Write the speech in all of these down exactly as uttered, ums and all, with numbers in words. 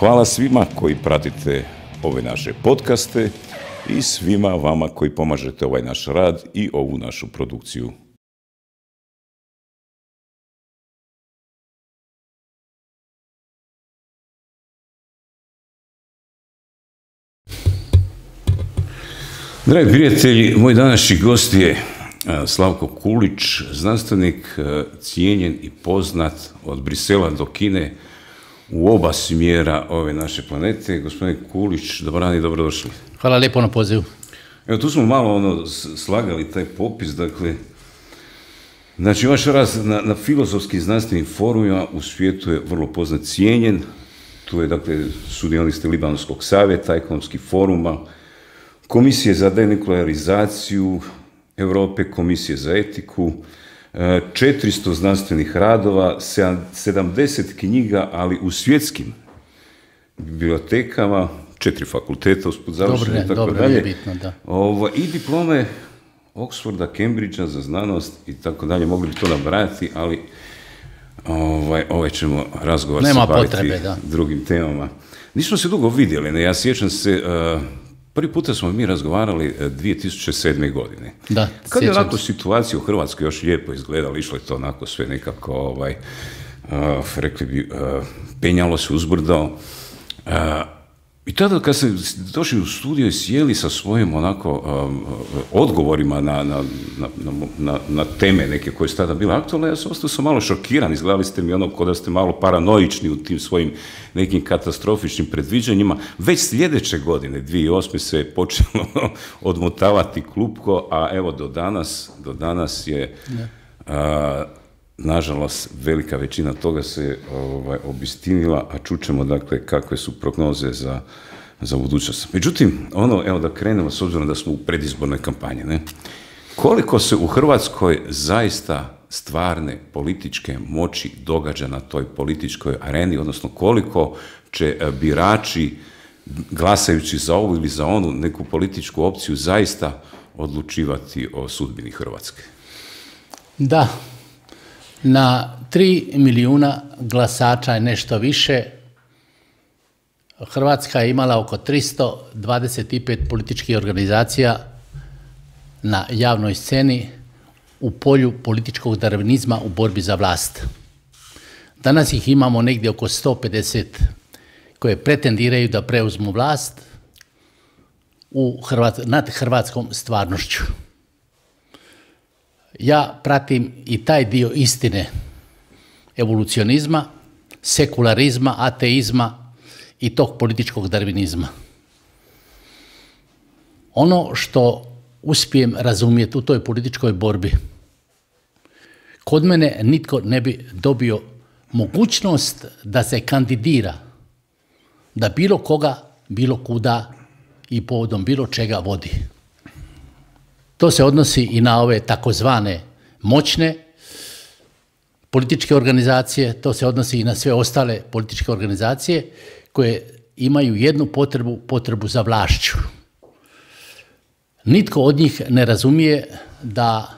Hvala svima koji pratite ove naše podcaste i svima vama koji pomažete ovaj naš rad i ovu našu produkciju. Dragi prijatelji, moj današnji gost je Slavko Kulić, znanstvenik, cijenjen i poznat od Brisela do Kine u oba smjera ove naše planete. Gospodine Kulić, dobar dan i dobrodošli. Hvala lijepo na pozivu. Evo, tu smo malo ono, slagali taj popis, dakle, znači vaš rad na, na filozofskim znanstvenim forumima u svijetu je vrlo poznat, cijenjen. Tu je, dakle, sudionik ste Libanonskog savjeta, ekonomskih foruma, Komisije za denuklearizaciju Europe, Komisije za etiku, četiristo znanstvenih radova, sedamdeset knjiga, ali u svjetskim bibliotekama, četiri fakulteta usput završene i tako dalje. Bitno, da. Ovo, i diplome Oxforda, Cambridgea za znanost i tako dalje. Mogli bi to nabrajati, ali ovaj, ovaj ćemo razgovor se baviti potrebe, da. drugim temama. Nismo se dugo vidjeli, ne? Ja sjećam se... Uh, Prvi puta smo mi razgovarali dvije tisuće sedme. godine. Da, kad je onako situacija u Hrvatskoj još lijepo izgledala, išlo je to onako sve nekako, ovaj, uh, rekli bi, uh, penjalo se uzbrdo. Uh, I tada kad ste došli u studio i sjeli sa svojim onako um, odgovorima na, na, na, na, na teme neke koje su tada bile aktualne, ja sam ostao sam malo šokiran, izgledali ste mi ono kao da ste malo paranoični u tim svojim nekim katastrofičnim predviđanjima. Već sljedeće godine, dvije tisuće osme. se je počelo odmotavati klupko, a evo do danas, do danas je... Uh, nažalost, velika većina toga se ovaj, obistinila, a čućemo, dakle, kakve su prognoze za, za budućnost. Međutim, ono, evo da krenemo, s obzirom da smo u predizbornoj kampanji, ne? Koliko se u Hrvatskoj zaista stvarne političke moći događa na toj političkoj areni, odnosno koliko će birači, glasajući za ovu ili za onu neku političku opciju, zaista odlučivati o sudbini Hrvatske? Da. Na tri milijuna glasača je nešto više. Hrvatska je imala oko tristo dvadeset pet političkih organizacija na javnoj sceni u polju političkog darvinizma u borbi za vlast. Danas ih imamo negdje oko sto pedeset koje pretendiraju da preuzmu vlast u Hrvat, nad hrvatskom stvarnošću. Ja pratim i taj dio istine evolucionizma, sekularizma, ateizma i tog političkog darvinizma. Ono što uspijem razumjeti u toj političkoj borbi, kod mene nitko ne bi dobio mogućnost da se kandidira, da bilo koga, bilo kuda i povodom bilo čega vodi. To se odnosi i na ove takozvane moćne političke organizacije, to se odnosi i na sve ostale političke organizacije koje imaju jednu potrebu, potrebu za vlašću. Nitko od njih ne razumije da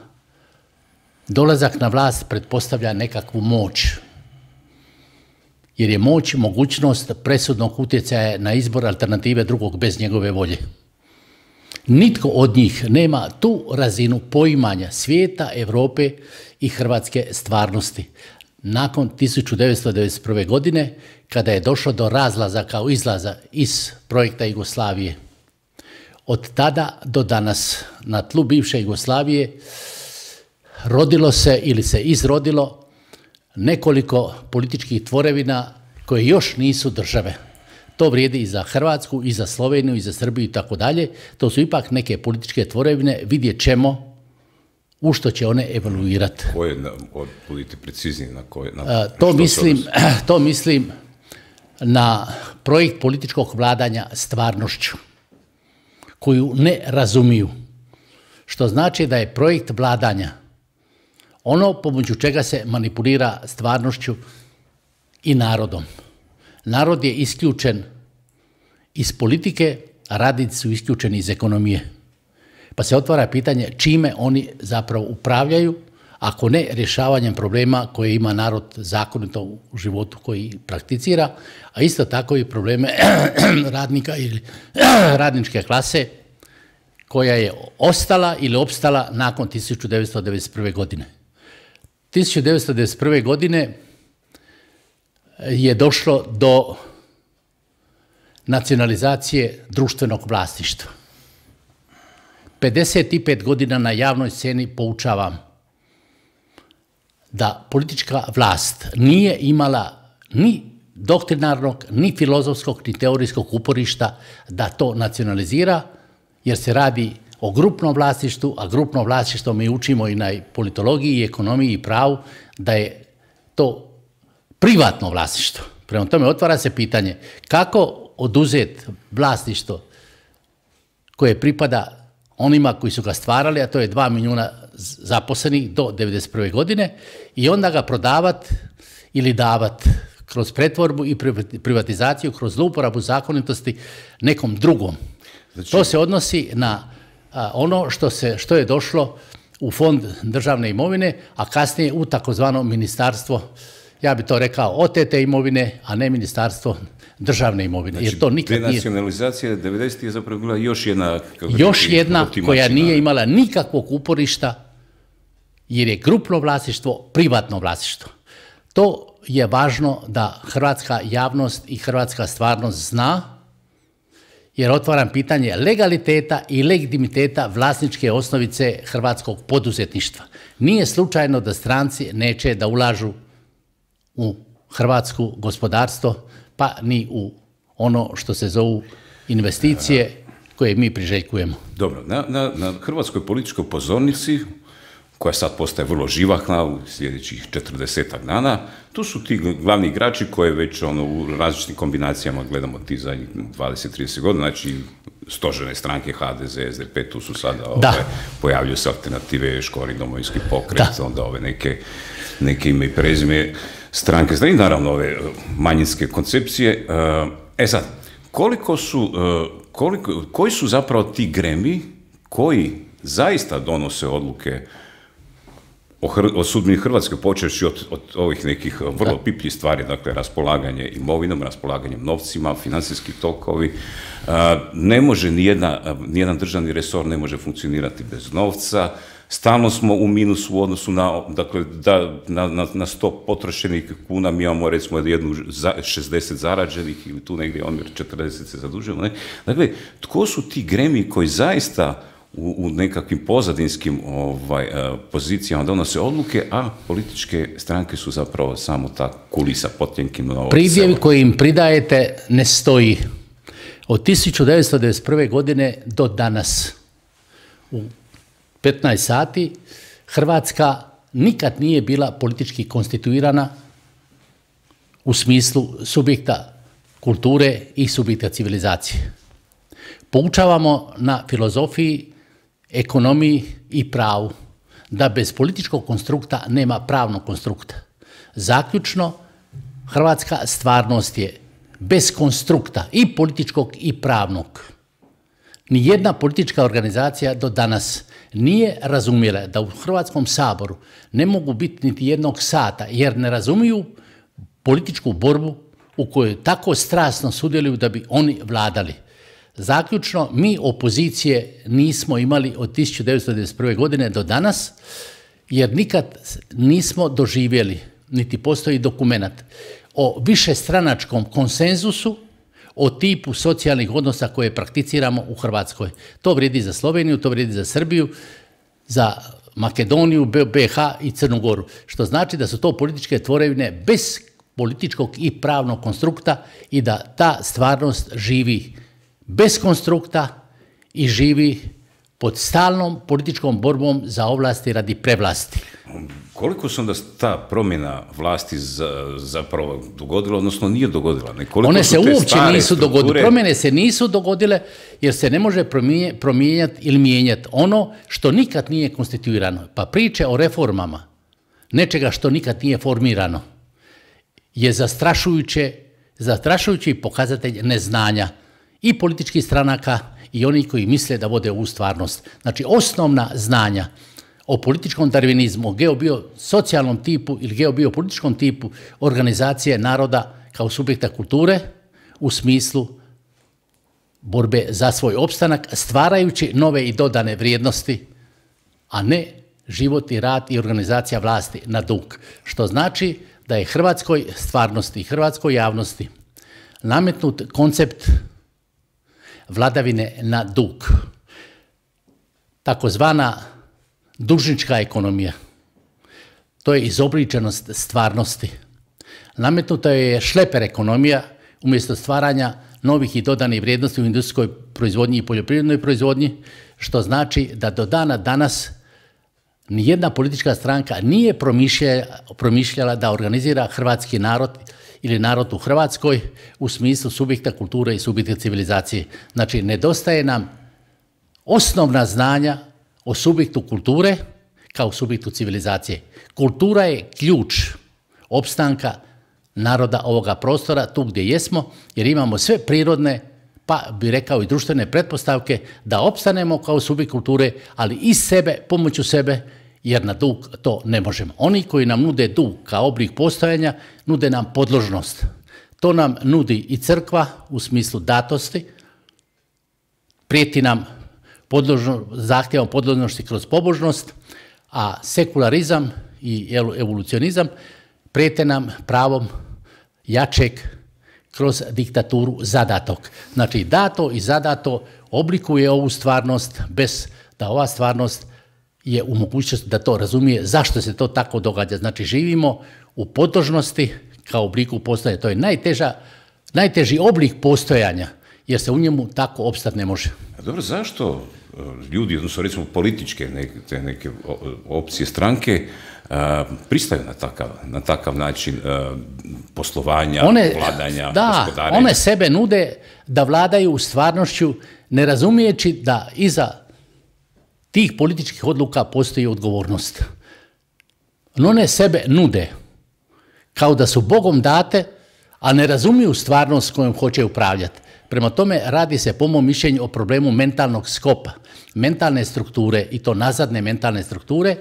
dolazak na vlast pretpostavlja nekakvu moć, jer je moć mogućnost presudnog utjecaja na izbor alternative drugog bez njegove volje. Nitko od njih nema tu razinu poimanja svijeta, Europe i hrvatske stvarnosti. Nakon tisuću devetsto devedeset prve. godine, kada je došlo do razlaza kao izlaza iz projekta Jugoslavije, od tada do danas na tlu bivše Jugoslavije rodilo se ili se izrodilo nekoliko političkih tvorevina koje još nisu države. To vrijedi i za Hrvatsku, i za Sloveniju, i za Srbiju i tako dalje. To su ipak neke političke tvorevine, vidjet ćemo u što će one evoluirati. Koje, budite precizniji, na koje? Na, A, to, mislim, to mislim na projekt političkog vladanja stvarnošću, koju ne razumiju. Što znači da je projekt vladanja ono pomoću čega se manipulira stvarnošću i narodom. Narod je isključen iz politike, a radnici su isključeni iz ekonomije. Pa se otvara pitanje čime oni zapravo upravljaju, ako ne rješavanjem problema koje ima narod zakonito u životu koji prakticira, a isto tako i probleme radnika ili radničke klase koja je ostala ili opstala nakon tisuću devetsto devedeset prve. godine. tisuću devetsto devedeset prve. godine je došlo do nacionalizacije društvenog vlasništva. pedeset pet godina na javnoj sceni poučavam da politička vlast nije imala ni doktrinarnog, ni filozofskog, ni teorijskog uporišta da to nacionalizira, jer se radi o grupnom vlasništvu, a grupno vlasništvo mi učimo i na politologiji, i ekonomiji, i pravu, da je to privatno vlasništvo. Prema tome otvara se pitanje kako oduzeti vlasništvo koje pripada onima koji su ga stvarali, a to je dva milijuna zaposlenih do devedeset prve. godine, i onda ga prodavati ili davati kroz pretvorbu i privatizaciju, kroz zlouporabu zakonitosti nekom drugom. Znači, to se odnosi na a, ono što, se, što je došlo u fond državne imovine, a kasnije u takozvano ministarstvo, ja bi to rekao, otete imovine, a ne ministarstvo državne imovine. Znači, jer to nikad nije... denacionalizacija devedesetih je zapravo bila još jedna... Još jedna koja nije imala nikakvog uporišta, jer je grupno vlasništvo privatno vlasništvo. To je važno da hrvatska javnost i hrvatska stvarnost zna, jer otvaram pitanje legaliteta i legitimiteta vlasničke osnovice hrvatskog poduzetništva. Nije slučajno da stranci neće da ulažu u hrvatsko gospodarstvo, pa ni u ono što se zovu investicije koje mi priželjkujemo. Dobro, na, na, na hrvatskoj političkoj pozornici, koja sad postaje vrlo živahna u sljedećih četrdesetak dana, tu su ti glavni igrači koje već ono, u različitim kombinacijama gledamo ti zadnjih dvadeset do trideset godina, znači stožerne stranke H D Z, S D P, tu su sada ove, pojavljuju se alternative, Škori, Domovinski pokret, da. onda ove neke, neke ime i prezime stranke, znači naravno ove manjinske koncepcije. E sad, koliko su, koliko, koji su zapravo ti gremi koji zaista donose odluke o, Hr o sudbini Hrvatske, počevši od, od ovih nekih vrlo pipljih stvari, dakle raspolaganje imovinom, raspolaganjem novcima, financijski tokovi. Ne može nijedna, nijedan državni resor ne može funkcionirati bez novca. Stalno smo u minusu u odnosu na, dakle, da, na, na, na sto potrošenih kuna mi imamo recimo jednu za, šezdeset zarađenih ili tu negdje omjer četrdeset se zadužujemo. Ne? Dakle, tko su ti gremi koji zaista u, u nekakvim pozadinskim ovaj, pozicijama donose odluke, a političke stranke su zapravo samo ta kulisa potljenkim. Pridjev koji im pridajete ne stoji. Od tisuću devetsto devedeset prve. godine do danas u petnaest sati Hrvatska nikad nije bila politički konstituirana u smislu subjekta kulture i subjekta civilizacije. Poučavamo na filozofiji, ekonomiji i pravu da bez političkog konstrukta nema pravnog konstrukta. Zaključno, hrvatska stvarnost je bez konstrukta i političkog i pravnog. Nijedna politička organizacija do danas nije razumjela da u Hrvatskom saboru ne mogu biti niti jednog sata, jer ne razumiju političku borbu u kojoj tako strasno sudjeluju da bi oni vladali. Zaključno, mi opozicije nismo imali od tisuću devetsto devedeset prve. godine do danas, jer nikad nismo doživjeli, niti postoji dokumenat o višestranačkom konsenzusu o tipu socijalnih odnosa koje prakticiramo u Hrvatskoj. To vrijedi za Sloveniju, to vrijedi za Srbiju, za Makedoniju, B iH i Crnu Goru. Što znači da su to političke tvorevine bez političkog i pravnog konstrukta i da ta stvarnost živi bez konstrukta i živi pod stalnom političkom borbom za ovlasti radi prevlasti. Koliko se onda ta promjena vlasti zapravo dogodila, odnosno nije dogodila? One se uopće nisu dogodile. Promjene se nisu dogodile jer se ne može promijenjati ili mijenjati ono što nikad nije konstituirano. Pa priče o reformama, nečega što nikad nije formirano, je zastrašujuće, zastrašujući pokazatelj neznanja i političkih stranaka i oni koji misle da vode ovu stvarnost. Znači, osnovna znanja o političkom darvinizmu, o geobiosocijalnom tipu ili geobiopolitičkom tipu organizacije naroda kao subjekta kulture u smislu borbe za svoj opstanak, stvarajući nove i dodane vrijednosti, a ne život i rad i organizacija vlasti na dug. Što znači da je hrvatskoj stvarnosti, hrvatskoj javnosti nametnut koncept vladavine na dug. Takozvana dužnička ekonomija. To je izobličenost stvarnosti. Nametnuta je šleper ekonomija umjesto stvaranja novih i dodanih vrijednosti u industrijskoj proizvodnji i poljoprivrednoj proizvodnji, što znači da do dana danas nijedna politička stranka nije promišljala da organizira hrvatski narod ili narod u Hrvatskoj u smislu subjekta kulture i subjekta civilizacije. Znači, nedostaje nam osnovna znanja o subjektu kulture kao subjektu civilizacije. Kultura je ključ opstanka naroda ovoga prostora, tu gdje jesmo, jer imamo sve prirodne, pa bi rekao i društvene pretpostavke da opstanemo kao subjekt kulture, ali iz sebe, pomoću sebe, jer na dug to ne možemo. Oni koji nam nude dug kao oblik postojanja, nude nam podložnost. To nam nudi i crkva u smislu datosti, prijeti nam podložno, zahtjevom podložnosti kroz pobožnost, a sekularizam i evolucionizam prijete nam pravom jačeg kroz diktaturu zadatog. Znači, dato i zadato oblikuje ovu stvarnost bez da ova stvarnost je u mogućnosti da to razumije zašto se to tako događa. Znači, živimo u podložnosti kao obliku postojanja. To je najteža, najteži oblik postojanja, jer se u njemu tako opstati ne može. A dobro, zašto ljudi, odnosno recimo političke neke, te neke opcije, stranke, a, pristaju na takav, na takav način a, poslovanja, one, vladanja, da, gospodarenja? One sebe nude da vladaju u stvarnošću, ne razumijeći da iza tih političkih odluka postoji odgovornost. No one sebe nude kao da su Bogom date, a ne razumiju stvarnost kojom hoće upravljati. Prema tome, radi se po mom mišljenju o problemu mentalnog skopa, mentalne strukture, i to nazadne mentalne strukture,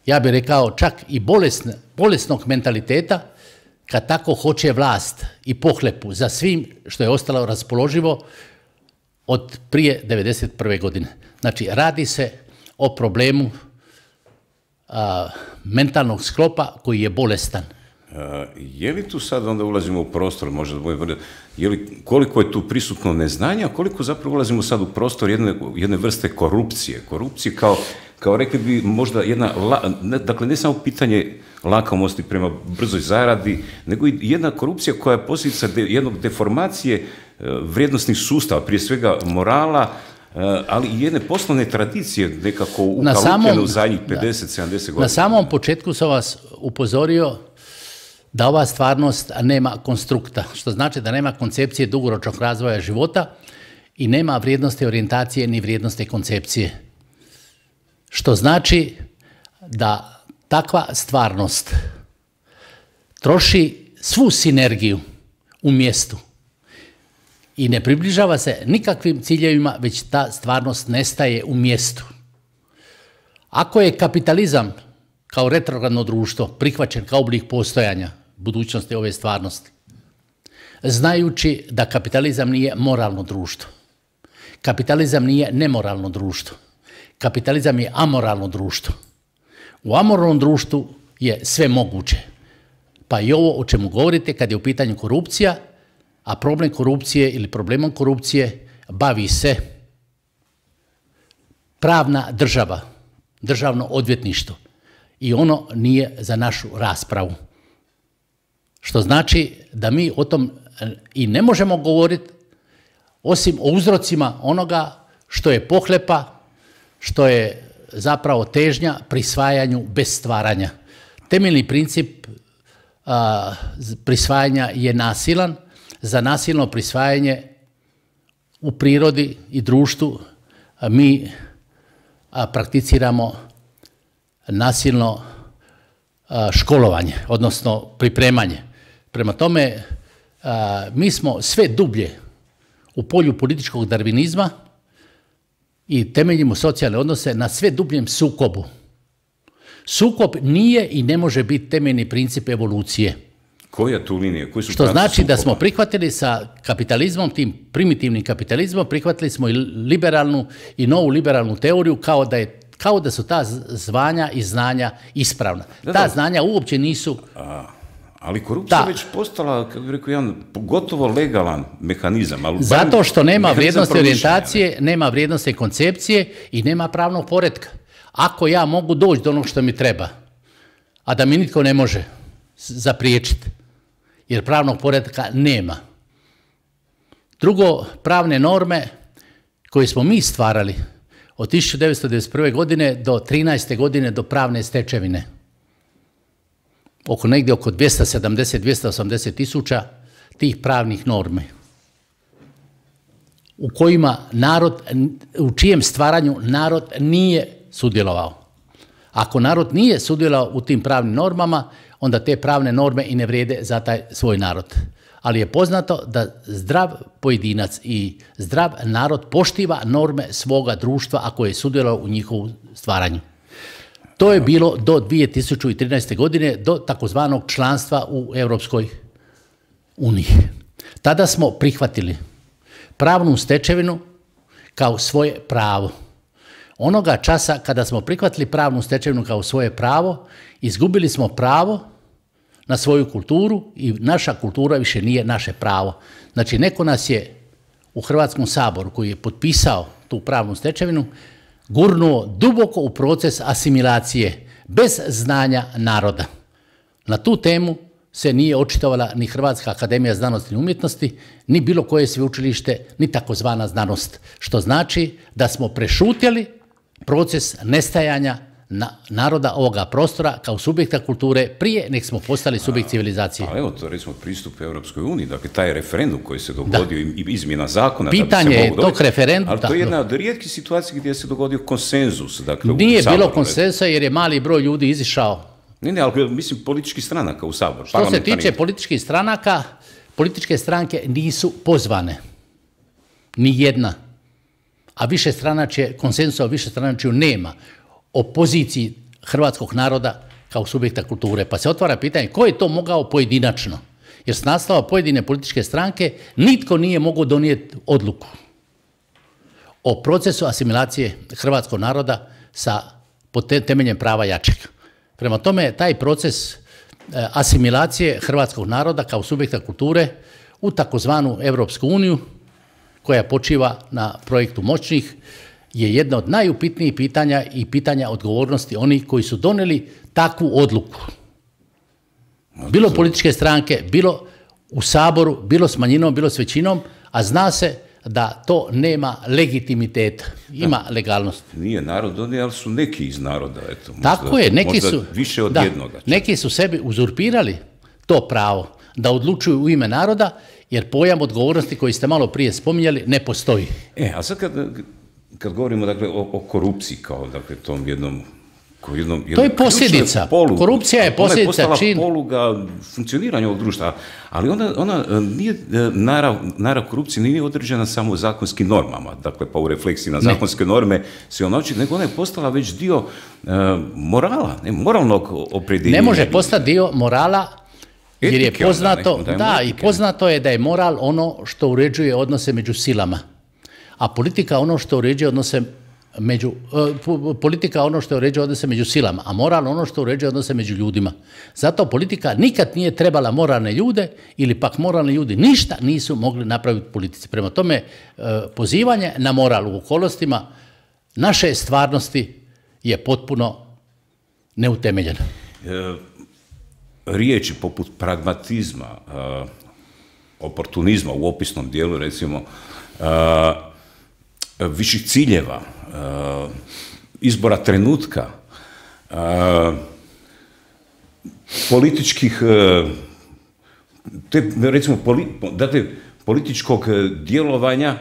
ja bih rekao čak i bolesne, bolesnog mentaliteta, kad tako hoće vlast i pohlepu za svim što je ostalo raspoloživo od prije devedeset prve godine. Znači, radi se o problemu a, mentalnog sklopa koji je bolestan. A, je li tu sad onda ulazimo u prostor, možda boje, je li, koliko je tu prisutno neznanja, a koliko zapravo ulazimo sad u prostor jedne, jedne vrste korupcije? Korupcije kao, kao rekli bi možda jedna, ne, dakle ne samo pitanje lakomosti prema brzoj zaradi, nego i jedna korupcija koja je posljedica de, jednog deformacije vrijednosnih sustava, prije svega morala, ali i jedne poslovne tradicije nekako ukalupljene u zadnjih pedeset sedamdeset godina. Na samom početku sam vas upozorio da ova stvarnost nema konstrukta, što znači da nema koncepcije dugoročnog razvoja života i nema vrijednosti orijentacije ni vrijednosti koncepcije. Što znači da takva stvarnost troši svu sinergiju u mjestu i ne približava se nikakvim ciljevima, već ta stvarnost nestaje u mjestu. Ako je kapitalizam kao retrogradno društvo prihvaćen kao oblik postojanja budućnosti ove stvarnosti, znajući da kapitalizam nije moralno društvo, kapitalizam nije nemoralno društvo, kapitalizam je amoralno društvo. U amoralnom društvu je sve moguće, pa i ovo o čemu govorite kad je u pitanju korupcija, a problem korupcije ili problemom korupcije bavi se pravna država, državno odvjetništvo, i ono nije za našu raspravu. Što znači da mi o tom i ne možemo govoriti osim o uzrocima onoga što je pohlepa, što je zapravo težnja prisvajanju bez stvaranja. Temeljni princip a, prisvajanja je nasilan. Za nasilno prisvajanje u prirodi i društvu a, mi a, prakticiramo nasilno a, školovanje, odnosno pripremanje. Prema tome, a, mi smo sve dublje u polju političkog darvinizma i temeljimo socijalne odnose na sve dubljem sukobu Sukob nije i ne može biti temeljni princip evolucije. Koja tu linija? Koji su Što znači da smo prihvatili sa kapitalizmom, tim primitivnim kapitalizmom, prihvatili smo i liberalnu i novu liberalnu teoriju kao da, je, kao da su ta zvanja i znanja ispravna. Da, ta da. znanja uopće nisu... A, ali korupcija da. već postala, kako bih rekao, jedan gotovo legalan mehanizam. Ali zato što nema vrijednosti orijentacije, ne? nema vrijednosti koncepcije i nema pravnog poretka. Ako ja mogu doći do onog što mi treba, a da mi nitko ne može zapriječiti, jer pravnog poretka nema. Drugo, pravne norme koje smo mi stvarali od tisuću devetsto devedeset prve. godine do trinaeste. godine do pravne stečevine, oko negdje oko dvjesto sedamdeset do dvjesto osamdeset tisuća tih pravnih norme, u kojima narod, u čijem stvaranju narod nije sudjelovao. Ako narod nije sudjelovao u tim pravnim normama, onda te pravne norme i ne vrijede za taj svoj narod. Ali je poznato da zdrav pojedinac i zdrav narod poštiva norme svoga društva ako je sudjelovao u njihovu stvaranju. To je bilo do dvije tisuće trinaeste. godine, do takozvanog članstva u Europskoj uniji. Tada smo prihvatili pravnu stečevinu kao svoje pravo. Onoga časa kada smo prihvatili pravnu stečevinu kao svoje pravo, izgubili smo pravo na svoju kulturu i naša kultura više nije naše pravo. Znači, neko nas je u Hrvatskom saboru, koji je potpisao tu pravnu stečevinu, gurnuo duboko u proces asimilacije bez znanja naroda. Na tu temu se nije očitovala ni Hrvatska akademija znanosti i umjetnosti, ni bilo koje sveučilište, ni takozvana znanost. Što znači da smo prešutjeli proces nestajanja na, naroda ovoga prostora kao subjekta kulture prije nek smo postali subjekt civilizacije. Ali evo to recimo pristup Europskoj uniji, dakle taj referendum koji se dogodio i izmjena zakona. Pitanje je tog referenduma. Ali to je jedna od rijetkih situacija gdje se dogodio konsenzus. Dakle, nije Saboru, bilo konsenzusa jer je mali broj ljudi izišao. Ne, ne, ali mislim političkih stranaka u Saboru. Što se tiče političkih stranaka, političke stranke nisu pozvane. Ni jedna. A više stranačje, konsenzusa o više stranačju nema. O poziciji hrvatskog naroda kao subjekta kulture. Pa se otvara pitanje ko je to mogao pojedinačno? Jer s naslova pojedine političke stranke nitko nije mogao donijeti odluku o procesu asimilacije hrvatskog naroda sa temeljem prava jačeg. Prema tome, taj proces asimilacije hrvatskog naroda kao subjekta kulture u takozvanu Europsku uniju, koja počiva na projektu moćnih, je jedno od najupitnijih pitanja i pitanja odgovornosti onih koji su donijeli takvu odluku. Bilo političke stranke, bilo u Saboru, bilo s manjinom, bilo s većinom, a zna se da to nema legitimiteta, ima da. legalnost. Nije narod donio, ali su neki iz naroda. Eto, možda, tako je, neki su, više od da, jednoga. Neki su sebi uzurpirali to pravo da odlučuju u ime naroda, jer pojam odgovornosti koji ste malo prije spominjali ne postoji. E, a sad kad, kad govorimo dakle, o, o korupciji kao dakle, tom jednom Jednom, jednom to je posljedica. Polugu. Korupcija je posljedica čin. Ona je postala čin. poluga funkcioniranja ovog društva, ali ona, ona nije, narav, narav korupcije nije određena samo zakonskim normama, dakle pa u refleksiji na zakonske ne. norme se ona oči, nego ona je postala već dio uh, morala, ne, moralnog opredjeljenja. Ne može postati dio morala, jer Etike, je poznato, onda, da, da i poznato je da je moral ono što uređuje odnose među silama, a politika ono što uređuje odnose Među, uh, politika ono što uređuje odnose među silama, a moral ono što uređuje odnose među ljudima. Zato politika nikad nije trebala moralne ljude ili pak moralni ljudi ništa nisu mogli napraviti politici. Prema tome, uh, pozivanje na moral u okolnostima naše stvarnosti je potpuno neutemeljeno. E, riječi poput pragmatizma, uh, oportunizma u opisnom dijelu, recimo, uh, viših ciljeva, Uh, izbora trenutka, uh, političkih, uh, te, recimo, poli, dakle, političkog djelovanja,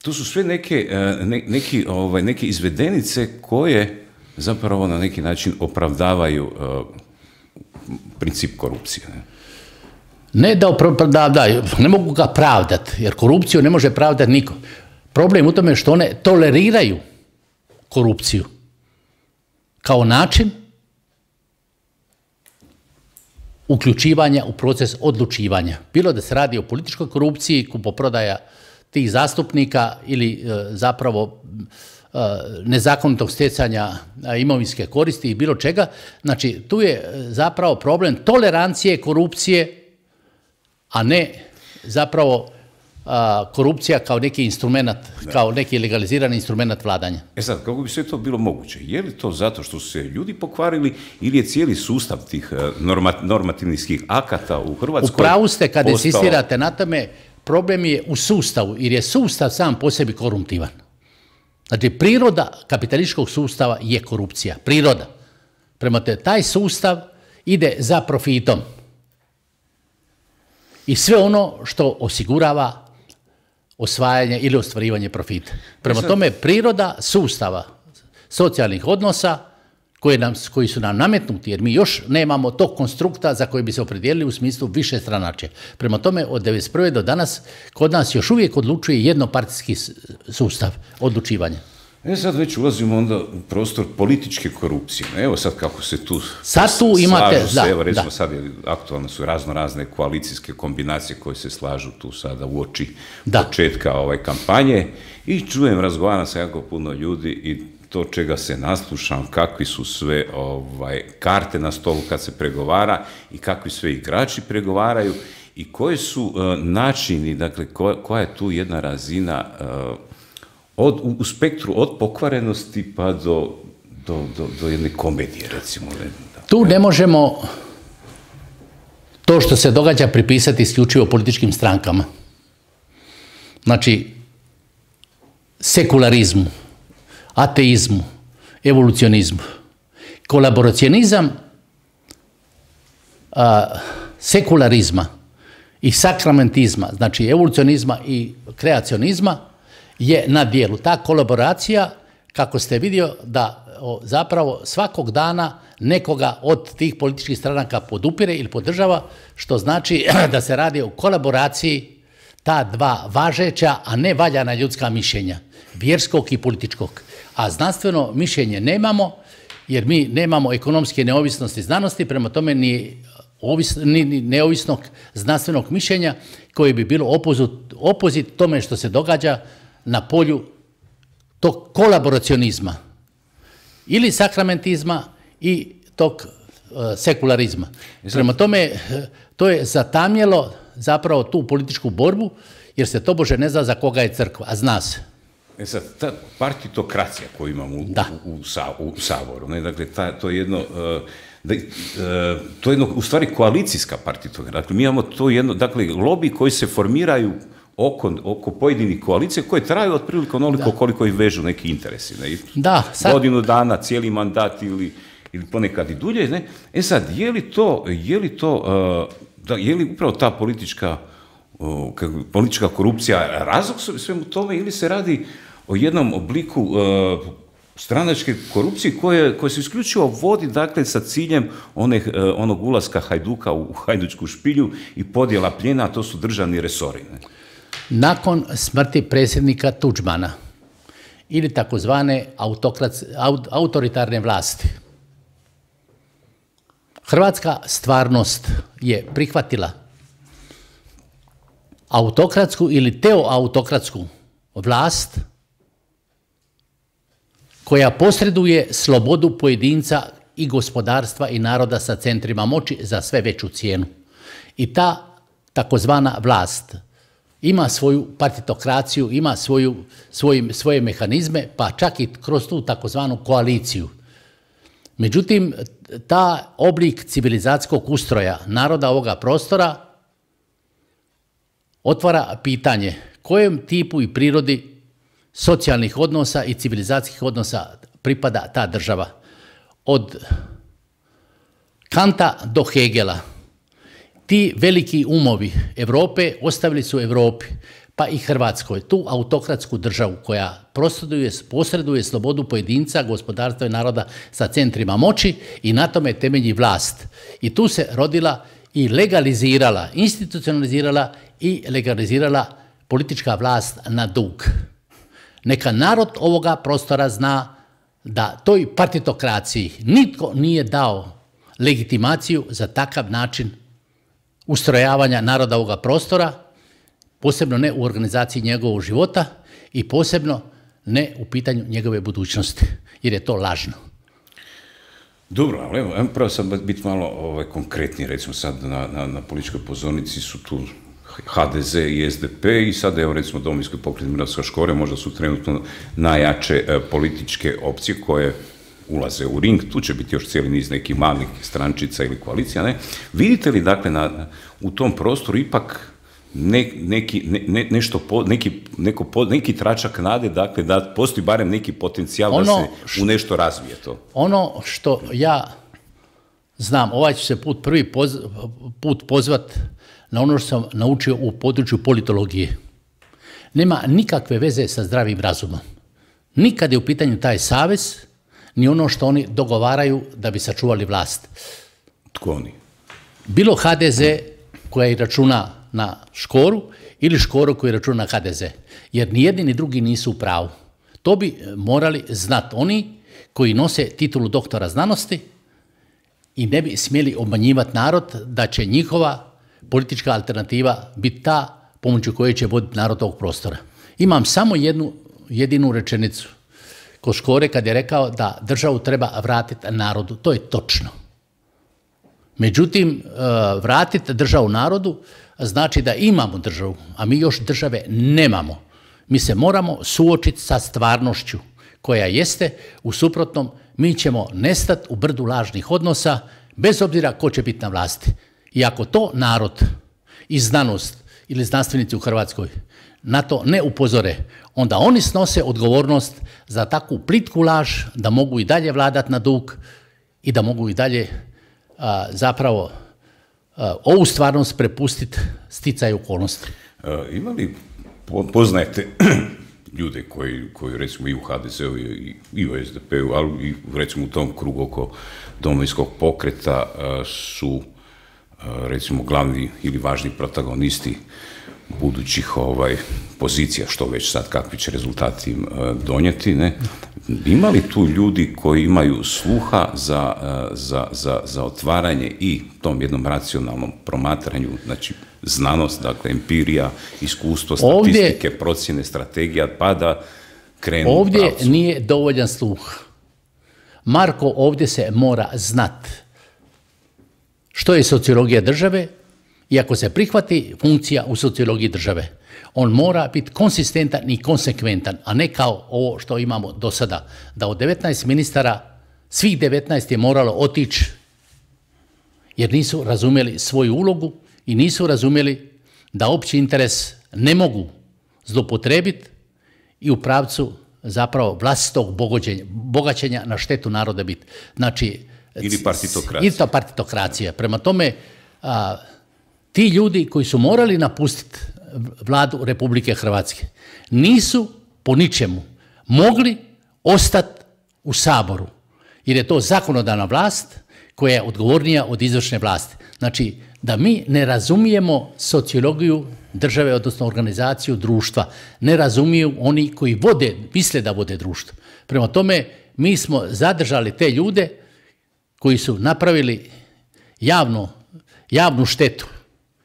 to su sve neke, uh, ne, neki, ovaj, neke izvedenice koje zapravo na neki način opravdavaju uh, princip korupcije. Ne, ne da opravdavaju, ne mogu ga pravdati, jer korupciju ne može pravdati niko. Problem u tome što one toleriraju korupciju kao način uključivanja u proces odlučivanja. Bilo da se radi o političkoj korupciji, kupoprodaja tih zastupnika ili zapravo nezakonitog stjecanja imovinske koristi i bilo čega. Znači, tu je zapravo problem tolerancije korupcije, a ne zapravo korupcija kao neki instrument, kao neki legalizirani instrument vladanja. E sad, kako bi sve to bilo moguće? Je li to zato što su se ljudi pokvarili ili je cijeli sustav tih normativnih akata u Hrvatskoj? U pravu ste kad insistirate na tome, problem je u sustavu, jer je sustav sam po sebi koruptivan. Znači, priroda kapitalističkog sustava je korupcija. Priroda. Prema te, taj sustav ide za profitom. I sve ono što osigurava osvajanje ili ostvarivanje profita. Prema tome, priroda sustava socijalnih odnosa koji, nam, koji su nam nametnuti, jer mi još nemamo tog konstrukta za koji bi se opredijelili u smislu više stranačje. Prema tome, od devedeset prve do danas, kod nas još uvijek odlučuje jednopartijski sustav odlučivanja. E sad već ulazimo onda u prostor političke korupcije. Evo sad kako se tu sad tu imate, slažu se, da, evo recimo da. sad je, aktualne su razno razne koalicijske kombinacije koje se slažu tu sada u oči da. početka ovaj kampanje i čujem, razgovaram sa jako puno ljudi i to čega se naslušam, kakvi su sve ovaj, karte na stolu kad se pregovara i kakvi sve igrači pregovaraju i koji su uh, načini, dakle koja, koja je tu jedna razina uh, Od, u, u spektru od pokvarenosti pa do, do, do, do jedne komedije, recimo. Da. Tu ne možemo to što se događa pripisati isključivo političkim strankama. Znači, sekularizmu, ateizmu, evolucionizmu. Kolaboracionizam a, sekularizma i sakramentizma, znači evolucionizma i kreacionizma, je na dijelu. Ta kolaboracija, kako ste vidio, da o, zapravo svakog dana nekoga od tih političkih stranaka podupire ili podržava, što znači da se radi o kolaboraciji ta dva važeća, a ne valjana ljudska mišljenja, vjerskog i političkog. A znanstveno mišljenje nemamo, jer mi nemamo ekonomske neovisnosti znanosti, prema tome ni, ovis, ni, ni neovisnog znanstvenog mišljenja koje bi bilo opozit, opozit tome što se događa na polju tog kolaboracionizma ili sakramentizma i tog uh, sekularizma. Prema tome, to je zatamjelo zapravo tu političku borbu, jer se tobože ne zna za koga je crkva, a zna se. E sad, ta partitokracija koju imamo u, u, u, sa, u Saboru, ne? Dakle, ta, to je jedno... Uh, Da, uh, to je jedno, u stvari koalicijska partitokracija. Dakle, mi imamo to jedno, dakle, lobi koji se formiraju oko, oko pojedinih koalicija koje traju otprilike onoliko koliko ih vežu neki interesi. Ne? Da, sad... Godinu dana, cijeli mandat ili, ili ponekad i dulje. Ne? E sad, je li to, je li to, uh, da, je li upravo ta politička, uh, politička korupcija razlog svemu tome ili se radi o jednom obliku uh, stranačke korupcije koje, koje se isključivo vodi, dakle, sa ciljem one, onog ulaska Hajduka u Hajdučku špilju i podjela plijena, a to su državni resori. Ne? Nakon smrti predsjednika Tuđmana ili takozvane autoritarne vlasti, hrvatska stvarnost je prihvatila autokratsku ili teoautokratsku vlast koja posreduje slobodu pojedinca i gospodarstva i naroda sa centrima moći za sve veću cijenu. I ta takozvana vlast ima svoju partitokraciju, ima svoju, svoj, svoje mehanizme, pa čak i kroz tu takozvanu koaliciju. Međutim, ta oblik civilizacijskog ustroja naroda ovoga prostora otvara pitanje kojem tipu i prirodi socijalnih odnosa i civilizacijskih odnosa pripada ta država. Od Kanta do Hegela, ti veliki umovi Europe ostavili su Europi, pa i Hrvatskoj, tu autokratsku državu koja posreduje, posreduje slobodu pojedinca, gospodarstva i naroda sa centrima moći i na tome temelji vlast. I tu se rodila i legalizirala, institucionalizirala i legalizirala politička vlast na dug. Neka narod ovoga prostora zna da toj partitokraciji nitko nije dao legitimaciju za takav način ustrojavanja naroda ovoga prostora, posebno ne u organizaciji njegovog života i posebno ne u pitanju njegove budućnosti, jer je to lažno. Dobro, ali evo, ajmo pravo sad biti malo ovaj, konkretni, recimo sad na, na, na političkoj pozornici su tu H D Z i S D P i sad evo recimo Domovinski pokret Miroslava Škore možda su trenutno najjače e, političke opcije koje ulaze u ring, tu će biti još cijeli niz nekih malih strančica ili koalicija, ne? Vidite li dakle na, u tom prostoru ipak ne, neki, ne, ne, nešto po, neki, neko po, neki tračak nade, dakle da postoji barem neki potencijal ono, da se u nešto razvije to? Ono što ja znam, ovaj ću se put prvi poz, put pozvat na ono što sam naučio u području politologije. Nema nikakve veze sa zdravim razumom. Nikad je u pitanju taj savez, ni ono što oni dogovaraju da bi sačuvali vlast. Tko oni? Bilo H D Z koja računa na Škoru ili Škoru koji računa na H D Z. Jer ni jedni ni drugi nisu u pravu. To bi morali znati oni koji nose titulu doktora znanosti i ne bi smjeli obmanjivati narod da će njihova politička alternativa biti ta pomoću koje će voditi narod ovog prostora. Imam samo jednu jedinu rečenicu kod Škore kad je rekao da državu treba vratiti narodu. To je točno. Međutim, vratiti državu narodu znači da imamo državu, a mi još države nemamo. Mi se moramo suočiti sa stvarnošću koja jeste, u suprotnom mi ćemo nestati u brdu lažnih odnosa bez obzira ko će biti na vlasti. I ako to narod i znanost ili znanstvenici u Hrvatskoj na to ne upozore, onda oni snose odgovornost za takvu plitku laž da mogu i dalje vladati na dug i da mogu i dalje a, zapravo a, ovu stvarnost prepustiti sticaju okolnosti. A, ima li, poznajete ljude koji, koji recimo i u H D Z-u i, i u S D P-u, ali i recimo u tom krugu oko Domovinskog pokreta a, su a, recimo glavni ili važni protagonisti budućih ovaj, pozicija, što već sad kakvi će rezultati donijeti, ne? Ima li tu ljudi koji imaju sluha za, za, za, za otvaranje i tom jednom racionalnom promatranju, znači znanost, dakle empirija, iskustvo, statistike, ovdje, procjene, strategija, pa da krenu u pravcu? Ovdje nije dovoljan sluh. Marko, ovdje se mora znat što je sociologija države. I ako se prihvati funkcija u sociologiji države, on mora biti konsistentan i konsekventan, a ne kao ovo što imamo do sada. Da od devetnaest ministara, svih devetnaest je moralo otići jer nisu razumjeli svoju ulogu i nisu razumjeli da opći interes ne mogu zloupotrijebiti i u pravcu zapravo vlastitog bogaćenja na štetu naroda biti. Znači, ili partitokracija. Ili to partitokracija. Prema tome, a, ti ljudi koji su morali napustiti vladu Republike Hrvatske nisu po ničemu mogli ostati u Saboru, jer je to zakonodavna vlast koja je odgovornija od izvršne vlasti. Znači, da mi ne razumijemo sociologiju države, odnosno organizaciju društva, ne razumiju oni koji vode, misle da vode društvo. Prema tome, mi smo zadržali te ljude koji su napravili javno, javnu štetu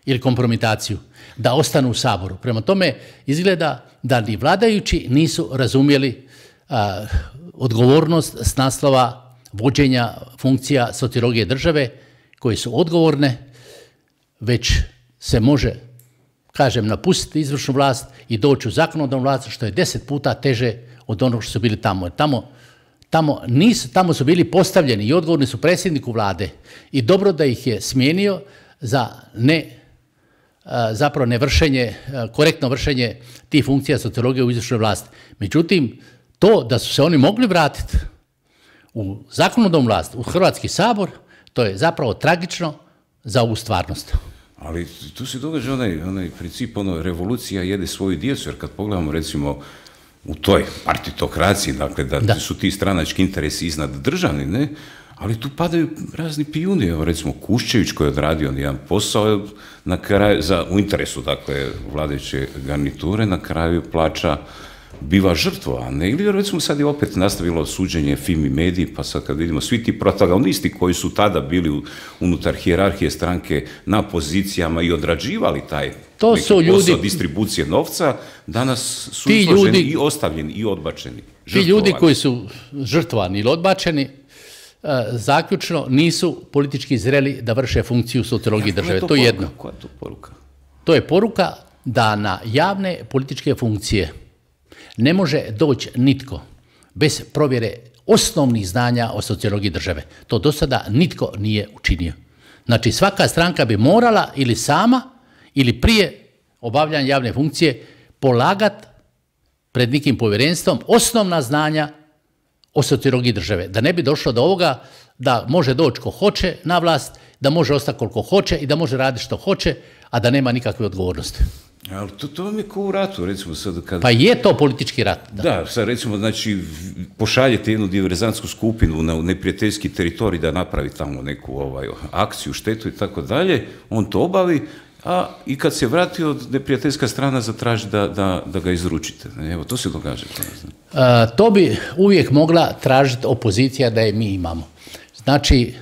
ili kompromitaciju, da ostanu u Saboru. Prema tome, izgleda da ni vladajući nisu razumjeli a, odgovornost s naslova vođenja funkcija sociologije države koje su odgovorne, već se može, kažem, napustiti izvršnu vlast i doći u zakonodavnu vlast, što je deset puta teže od onog što su bili tamo. Tamo, tamo, nisu, tamo su bili postavljeni i odgovorni su predsjedniku vlade i dobro da ih je smijenio za ne zapravo nevršenje, korektno vršenje tih funkcija sociologije u izvršnoj vlasti. Međutim, to da su se oni mogli vratiti u zakonodavnu vlast, u Hrvatski sabor, to je zapravo tragično za ovu stvarnost. Ali tu se događa onaj, onaj princip, ono, revolucija jede svoju djecu, jer kad pogledamo recimo u toj partitokraciji, dakle da, da. su ti stranački interesi iznad državni, ne? Ali tu padaju razni pijuni, evo recimo Kuščević koji je odradio jedan posao na kraju, za, u interesu dakle vladajuće garniture, na kraju plaća biva žrtvovane. Ili recimo sad je opet nastavilo suđenje Fimi Mediji, pa sad kad vidimo svi ti protagonisti koji su tada bili unutar hijerarhije stranke na pozicijama i odrađivali taj to su ljudi, posao distribucije novca, danas su izloženi ljudi, i ostavljeni i odbačeni. Ti ljudi koji su žrtvovani ili odbačeni, zaključno nisu politički zreli da vrše funkciju sociologije države. To je jedno. Koja je to poruka? To je poruka da na javne političke funkcije ne može doći nitko bez provjere osnovnih znanja o sociologiji države. To do sada nitko nije učinio. Znači svaka stranka bi morala ili sama ili prije obavljanja javne funkcije polagati pred nekim povjerenstvom osnovna znanja o sociologiji države. Da ne bi došlo do ovoga da može doći ko hoće na vlast, da može ostati koliko hoće i da može raditi što hoće, a da nema nikakve odgovornosti. Ali to, to vam je kao u ratu, recimo sad kad... Pa je to politički rat. Da, da sad recimo, znači, pošaljete jednu diverzantsku skupinu na neprijateljski teritorij da napravi tamo neku ovaj, akciju, štetu i tako dalje, on to obavi, a i kad se vrati od neprijateljska strana zatraži da, da, da ga izručite. Evo, to se događa. A, to bi uvijek mogla tražiti opozicija da je mi imamo. Znači,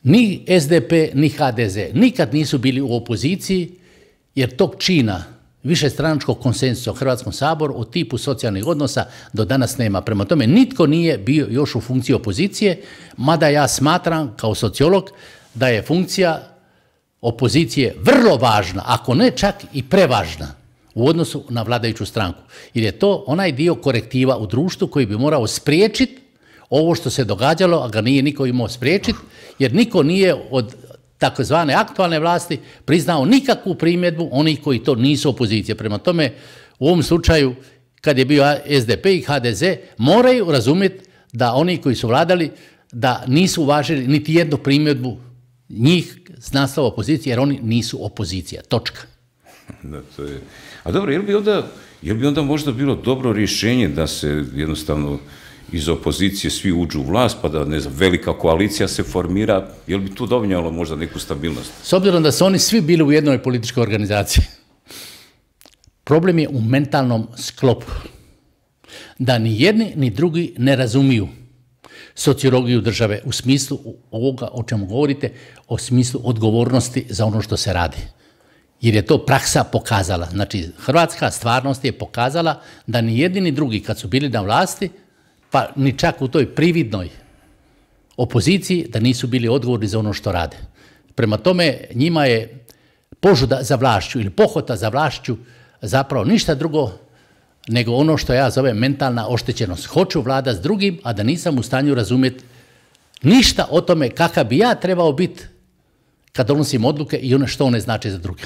ni S D P, ni H D Z nikad nisu bili u opoziciji, jer tog čina višestranačkog konsenzusa u Hrvatskom saboru o tipu socijalnih odnosa do danas nema. Prema tome, nitko nije bio još u funkciji opozicije, mada ja smatram kao sociolog da je funkcija opozicije vrlo važna, ako ne čak i prevažna u odnosu na vladajuću stranku. Jer je to onaj dio korektiva u društvu koji bi morao spriječiti ovo što se događalo, a ga nije niko imao spriječiti, jer niko nije od takozvane aktualne vlasti priznao nikakvu primjedbu onih koji to nisu opozicije. Prema tome, u ovom slučaju, kad je bio S D P i H D Z, moraju razumjeti da oni koji su vladali, da nisu uvažili niti jednu primjedbu njih s naslova opozicije, jer oni nisu opozicija. Točka. Da, to je... A dobro, je li bi onda, je li bi onda možda bilo dobro rješenje da se jednostavno iz opozicije svi uđu u vlast, pa da, ne znam, velika koalicija se formira, je li bi tu dovoljalo možda neku stabilnost? S obzirom da su oni svi bili u jednoj političkoj organizaciji, problem je u mentalnom sklopu. Da ni jedni ni drugi ne razumiju sociologiju države u smislu ovoga o čemu govorite, o smislu odgovornosti za ono što se radi. Jer je to praksa pokazala. Znači, hrvatska stvarnost je pokazala da ni jedni ni drugi kad su bili na vlasti, pa ni čak u toj prividnoj opoziciji, da nisu bili odgovorni za ono što rade. Prema tome, njima je požuda za vlašću ili pohota za vlašću zapravo ništa drugo nego ono što ja zovem mentalna oštećenost. Hoću vlada s drugim, a da nisam u stanju razumjeti ništa o tome kakav bi ja trebao biti kad donosim odluke i ono što one znači za druge.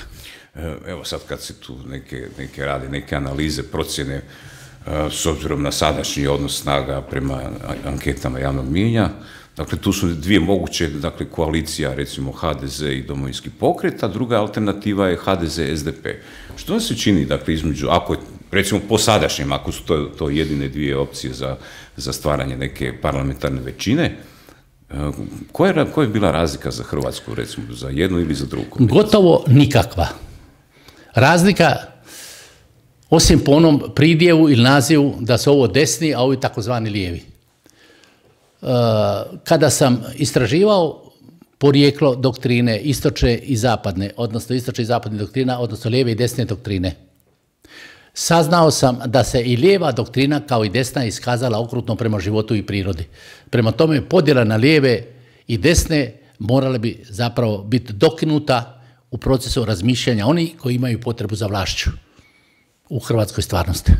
Evo sad kad se tu neke, neke rade, neke analize, procjene, s obzirom na sadašnji odnos snaga prema anketama javnog mijenja, dakle tu su dvije moguće, dakle koalicija recimo H D Z i Domovinski pokret, a druga alternativa je H D Z S D P. Što vam se čini, dakle, između, ako je, recimo po sadašnjem, ako su to, to jedine dvije opcije za, za stvaranje neke parlamentarne većine, koja je, koja je bila razlika za Hrvatsku, recimo, za jednu ili za drugu? Gotovo nikakva. Razlika, osim po onom pridjevu ili nazivu da su ovo desni, a ovi takozvani lijevi. Kada sam istraživao porijeklo doktrine istočne i zapadne, odnosno istočne i zapadne doktrina, odnosno lijeve i desne doktrine, saznao sam da se i lijeva doktrina kao i desna iskazala okrutno prema životu i prirodi. Prema tome, podjela na lijeve i desne morala bi zapravo biti dokinuta u procesu razmišljanja onih koji imaju potrebu za vlašću u hrvatskoj stvarnosti.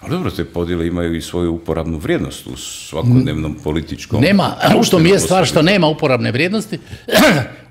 Ali dobro, te podjele imaju i svoju uporabnu vrijednost u svakodnevnom političkom... Nema, u što mi je stvar što nema uporabne vrijednosti,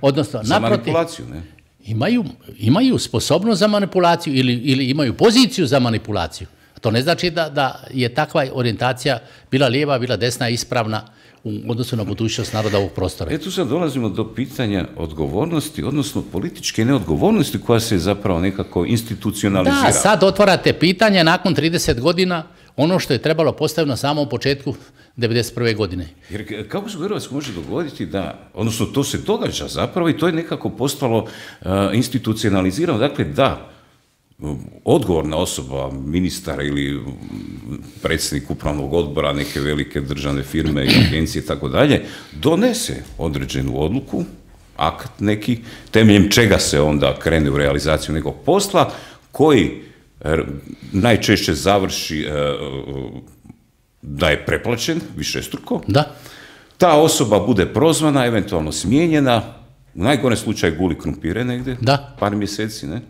odnosno, za naprotiv, manipulaciju, ne? Imaju, imaju sposobnost za manipulaciju ili, ili imaju poziciju za manipulaciju. To ne znači da, da je takva orijentacija bila lijeva, bila desna, ispravna u odnosu na budućnost naroda ovog prostora. E tu sad dolazimo do pitanja odgovornosti, odnosno političke neodgovornosti koja se zapravo nekako institucionalizira. Da, sad otvarate pitanje nakon trideset godina ono što je trebalo postaviti na samom početku devedeset prve godine. Jer kako se u Hrvatskoj može dogoditi da, odnosno to se događa zapravo i to je nekako postalo uh, institucionalizirano, dakle da odgovorna osoba, ministar ili predsjednik upravnog odbora neke velike državne firme, agencije i tako dalje, donese određenu odluku, akt neki, temeljem čega se onda krene u realizaciju nekog posla, koji najčešće završi da je preplaćen, višestruko. Da. Ta osoba bude prozvana, eventualno smijenjena, u najgorem slučaju guli krumpire negdje, da. Par mjeseci, ne?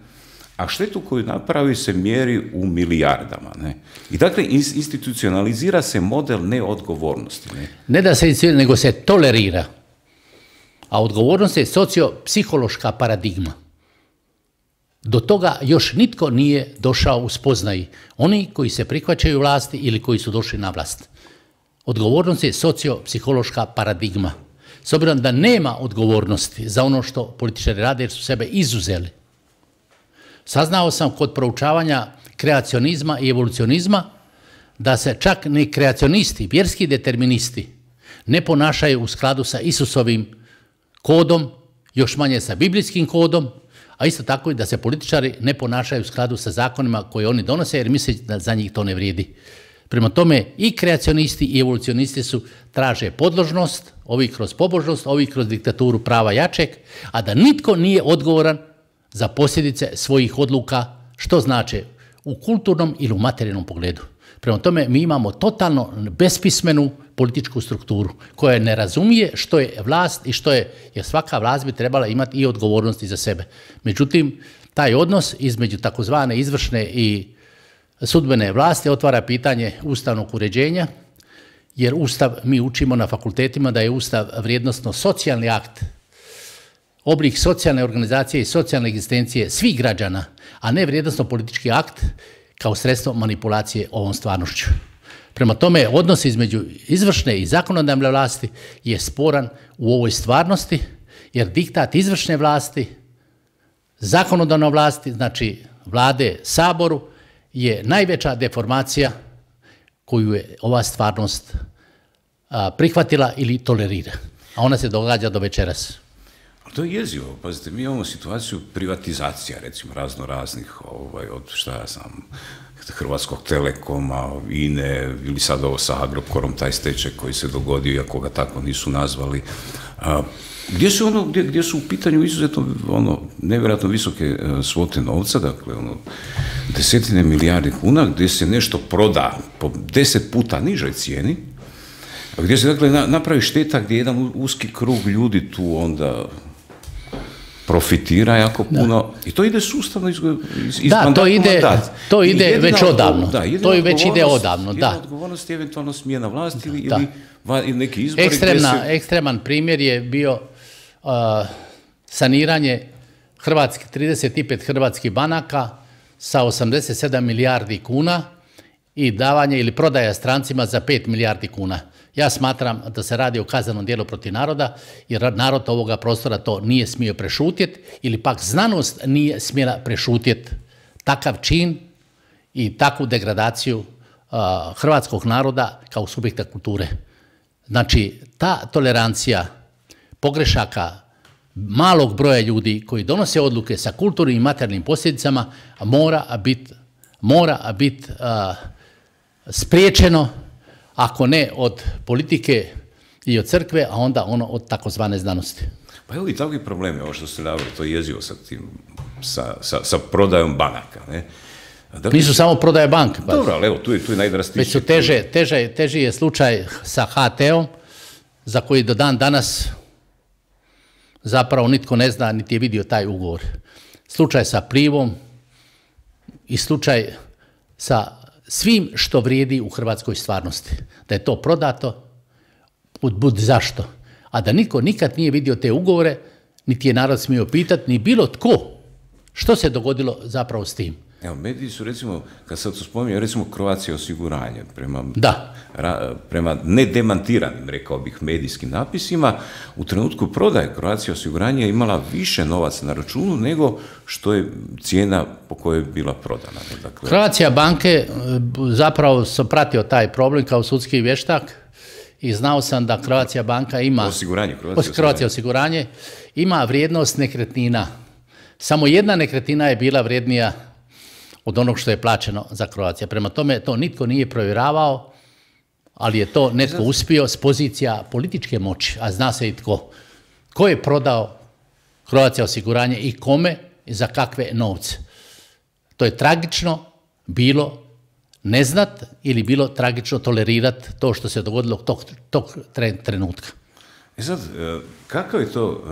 A štetu koju napravi se mjeri u milijardama. Ne? I dakle, institucionalizira se model neodgovornosti. Ne, ne da se institucionalizira, nego se tolerira. A odgovornost je socio-psihološka paradigma. Do toga još nitko nije došao u spoznaji. Oni koji se prihvaćaju vlasti ili koji su došli na vlast. Odgovornost je socio-psihološka paradigma. S obzirom da nema odgovornosti za ono što političari rade jer su sebe izuzeli. Saznao sam kod proučavanja kreacionizma i evolucionizma da se čak ni kreacionisti, vjerski deterministi, ne ponašaju u skladu sa Isusovim kodom, još manje sa biblijskim kodom, a isto tako i da se političari ne ponašaju u skladu sa zakonima koje oni donose jer misle da za njih to ne vrijedi. Prema tome i kreacionisti i evolucionisti su traže podložnost, ovi kroz pobožnost, ovi kroz diktaturu prava jačeg, a da nitko nije odgovoran za posljedice svojih odluka, što znači u kulturnom ili u materijalnom pogledu. Prema tome, mi imamo totalno bespismenu političku strukturu koja ne razumije što je vlast i što je, jer svaka vlast bi trebala imati i odgovornosti za sebe. Međutim, taj odnos između takozvane izvršne i sudbene vlasti otvara pitanje ustavnog uređenja, jer Ustav, mi učimo na fakultetima da je Ustav vrijednosno socijalni akt, oblik socijalne organizacije i socijalne egzistencije svih građana, a ne vrijednosno politički akt kao sredstvo manipulacije ovom stvarnošću. Prema tome, odnos između izvršne i zakonodavne vlasti je sporan u ovoj stvarnosti, jer diktat izvršne vlasti, zakonodavne vlasti, znači vlade, saboru, je najveća deformacija koju je ova stvarnost a, prihvatila ili tolerira. A ona se događa do večeras. To je jezivo, pazite, mi imamo situaciju privatizacija, recimo, razno raznih, ovaj, od šta ja sam, Hrvatskog Telekoma, I N E, ili sad ovo sa Agrokorom, taj stečaj koji se dogodio, iako ga tako nisu nazvali. A, gdje su, ono, gdje, gdje su u pitanju izuzetno ono, nevjerojatno visoke svote novca, dakle, ono, desetine milijardi kuna, gdje se nešto proda po deset puta nižoj cijeni, gdje se, dakle, napravi šteta gdje jedan uski krug ljudi tu onda profitira jako puno, da. I to ide sustavno iz, iz da, to ide, mandat. To ide jedina, već odavno. Da, to je već ide odavno, da. Jedna odgovornost je eventualno smjena vlasti ili, ili, ili neki izbori. Ekstremna, se... Ekstreman primjer je bio uh, saniranje Hrvatski, trideset pet hrvatskih banaka sa osamdeset sedam milijardi kuna i davanje ili prodaja strancima za pet milijardi kuna. Ja smatram da se radi o kaznenom djelu protiv naroda, jer narod ovoga prostora to nije smio prešutjeti ili pak znanost nije smjela prešutjeti takav čin i takvu degradaciju uh, hrvatskog naroda kao subjekta kulture. Znači, ta tolerancija pogrešaka malog broja ljudi koji donose odluke sa kulturnim i materijalnim posljedicama mora biti mora bit, uh, spriječeno, ako ne od politike i od crkve, a onda ono od takozvane znanosti. Pa evo i takvi problemi, ovo što ste naveli, to je jezivo sa, tim, sa, sa, sa prodajom banaka. Ne? Dakle, nisu samo prodaje banke. Dobro, ali evo, tu je, tu je najdrastičnije. Već su teže, teže, teži je slučaj sa H T-om, za koji do dan danas zapravo nitko ne zna, niti je vidio taj ugovor. Slučaj sa Plivom i slučaj sa svim što vrijedi u hrvatskoj stvarnosti. Da je to prodato, bud, bud zašto. A da niko nikad nije vidio te ugovore, niti je narod smio pitati, ni bilo tko, što se dogodilo zapravo s tim. Evo, mediji su, recimo, kad sad to spominju, recimo Croatia osiguranje, prema, da. ra, prema nedemantiranim, rekao bih, medijskim napisima, u trenutku prodaje Croatia osiguranje imala više novaca na računu nego što je cijena po kojoj je bila prodana. Dakle, Croatia banke, zapravo sam pratio taj problem kao sudski vještak i znao sam da Croatia banka ima osiguranje, Croatia, Croatia osiguranje ima vrijednost nekretnina. Samo jedna nekretnina je bila vrijednija od onog što je plaćeno za Croatia. Prema tome to nitko nije provjeravao, ali je to netko uspio s pozicija političke moći, a zna se i tko. Ko je prodao Croatia osiguranje i kome i za kakve novce. To je tragično bilo ne znat ili bilo tragično tolerirati to što se dogodilo tog, tog trenutka. I sad, kakav je to...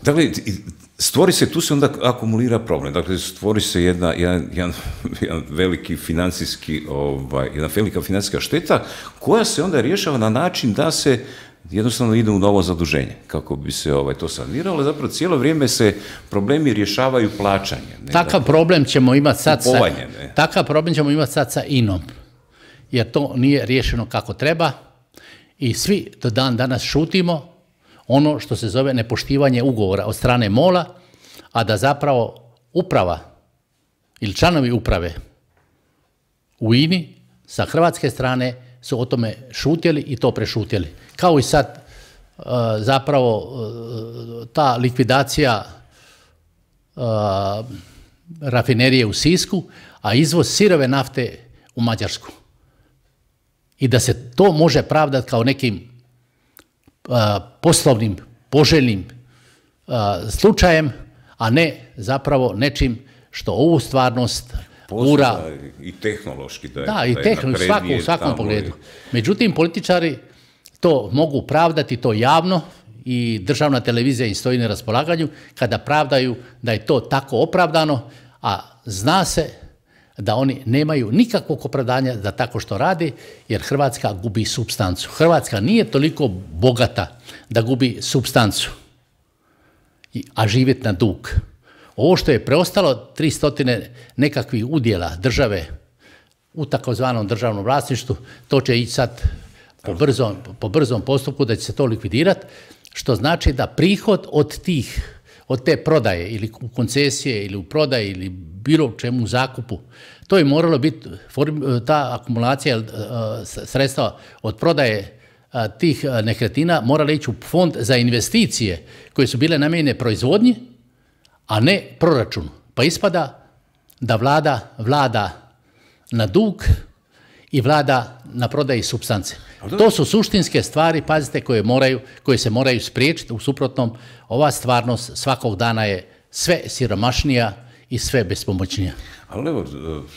Dakle, stvori se, tu se onda akumulira problem. Dakle, stvori se jedna, jedan, jedan, jedan veliki financijski, ovaj, jedna velika financijska šteta koja se onda rješava na način da se jednostavno ide u novo zaduženje, kako bi se ovaj, to saniralo. Zapravo cijelo vrijeme se problemi rješavaju plaćanjem. Takav dakle, problem ćemo imati sad sa, takav problem ćemo imati sad sa I N O-om, jer to nije riješeno kako treba i svi do dan danas šutimo ono što se zove nepoštivanje ugovora od strane MOL-a, a da zapravo uprava ili članovi uprave u I N I sa hrvatske strane su o tome šutjeli i to prešutjeli. Kao i sad zapravo ta likvidacija rafinerije u Sisku, a izvoz sirove nafte u Mađarsku. I da se to može pravdati kao nekim poslovnim, poželjnim slučajem, a ne zapravo nečim što ovu stvarnost gura. I tehnološki. Da, da, i tehnološki, svako, u svakom pogledu. Međutim, političari to mogu pravdati, to javno, i državna televizija im stoji na raspolaganju kada pravdaju da je to tako opravdano, a zna se da oni nemaju nikakvog opravdanja da tako što radi, jer Hrvatska gubi supstancu. Hrvatska nije toliko bogata da gubi supstancu, a živjeti na dug. Ovo što je preostalo, tri stotine nekakvih udjela države u takozvanom državnom vlasništvu, to će ići sad po brzom, po brzom postupku da će se to likvidirati, što znači da prihod od tih, od te prodaje ili u koncesije ili u prodaji ili bilo čemu u zakupu, to je moralo biti, ta akumulacija sredstva od prodaje tih nekretnina morala ići u fond za investicije koje su bile namijenjene proizvodnji, a ne proračunu. Pa ispada da vlada vlada na dug i vlada na prodaji supstance. To su suštinske stvari, pazite, koje, moraju, koje se moraju spriječiti. U suprotnom, ova stvarnost svakog dana je sve siromašnija i sve bespomoćnija. Ali evo,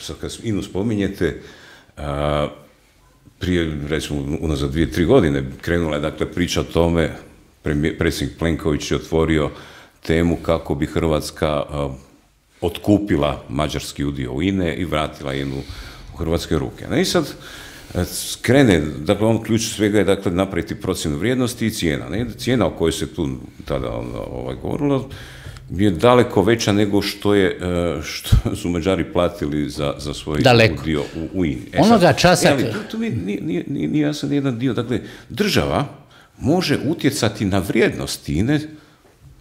sad kad I N U spominjete, a, prije, recimo, unazad dvije, tri godine krenula je dakle priča o tome, predsjednik Plenković je otvorio temu kako bi Hrvatska a, otkupila mađarski udio u I N E i vratila I N U u hrvatske ruke. No i sad krene, dakle, on ključ svega je dakle napraviti procjenu vrijednosti i cijena. Ne? Cijena o kojoj se tu tada ovaj, govorilo je daleko veća nego što, je, što su Mađari platili za, za svoj daleko. Udio u, u I N E. E, Onoga časa... E, ali tu, tu mi nije, nije, nije jasan jedan dio. Dakle, država može utjecati na vrijednost I N E